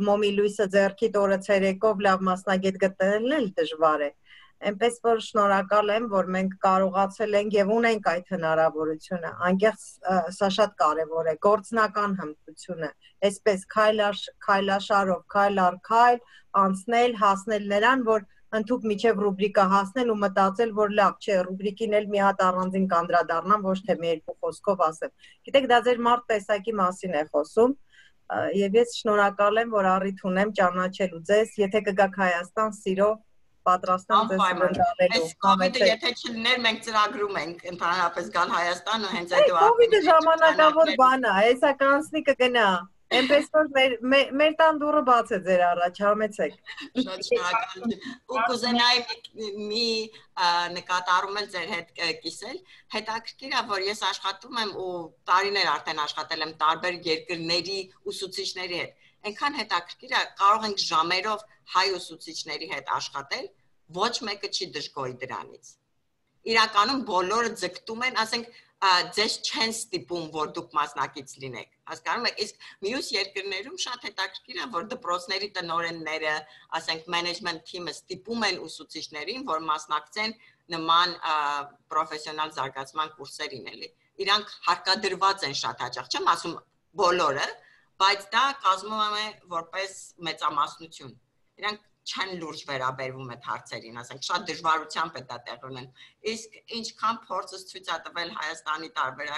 մոմի լույսը ձեռքիդ օրը ցերեկով լավ մասնագետ գտնելն էլ դժվար է, այնպես որ շնորհակալ եմ, որ մենք կարողացել ենք եւ ունենք այդ հնարավորությունը, անկեղծ սա շատ կարեւոր է, գործնական հմտությունը, այսպես քայլաշարով, քայլ առ քայլ անցնել, հասնել նրան, որ ընդհուպ միջև ռուբրիկա հասնել ու մտածել, որ լավ չէ, ռուբրիկին էլ մի հատ առանձին կանդրադառնամ, ոչ թե մի երկու խոսքով ասեմ։ Գիտեք, դա ձեր մարդ տեսակի մասին է խոսում, եւ ես շնորհակալ եմ, որ առիթ ունեմ ճանաչելու ձեզ, եթե կգաք Հայաստան, սիրով պատրաստ եմ ձեզ ընդունելու։ Այս կովիդը եթե չլիներ, մենք ծրագրում ենք ընդհանրապես գալ Հայաստան ու հենց այդ կովիդը ժամանակավոր բան է, հեսա կանցնի կգնա։ Այնպես որ մեր տան դուռը բաց է ձեր առաջ, համեցեք։ Շատ շնորհակալ եմ։ Ու կուզենայի մի նկատառում էլ ձեր հետ կիսել։ Հետաքրքիր է, որ ես աշխատում եմ ու տարիներ արդեն աշխատել եմ տարբեր երկրների ուսուցիչների հետ։ Այնքան հետաքրքիր է, կարող ենք ժամերով հայ ուսուցիչների հետ աշխատել, ոչ մեկը չի դժգոհի դրանից։ Իրականում բոլորը ձգտում են, ասենք ձեզ չեն ստիպում, որ դուք մասնակից լինեք։ Հասկանում եք, իսկ մյուս երկրներում շատ հետաքրքիր է, որ դպրոցների տնօրենները, ասենք management team-ը ստիպում են ուսուցիչներին, որ մասնակցեն նման պրոֆեսիոնալ զարգացման կուրսերին էլի։ Իրանք հարկադրված են շատ հաճախ, չեմ ասում բոլորը, բայց դա կազմում է որպես մեծամասնություն։ Իրանք չեն լուրջ վերաբերվում այդ հարցերին, ասենք շատ դժվարությամբ է դա տեղ ունեն։ Իսկ ինչքան փորձս ցույց է տվել Հայաստանի տարբերակ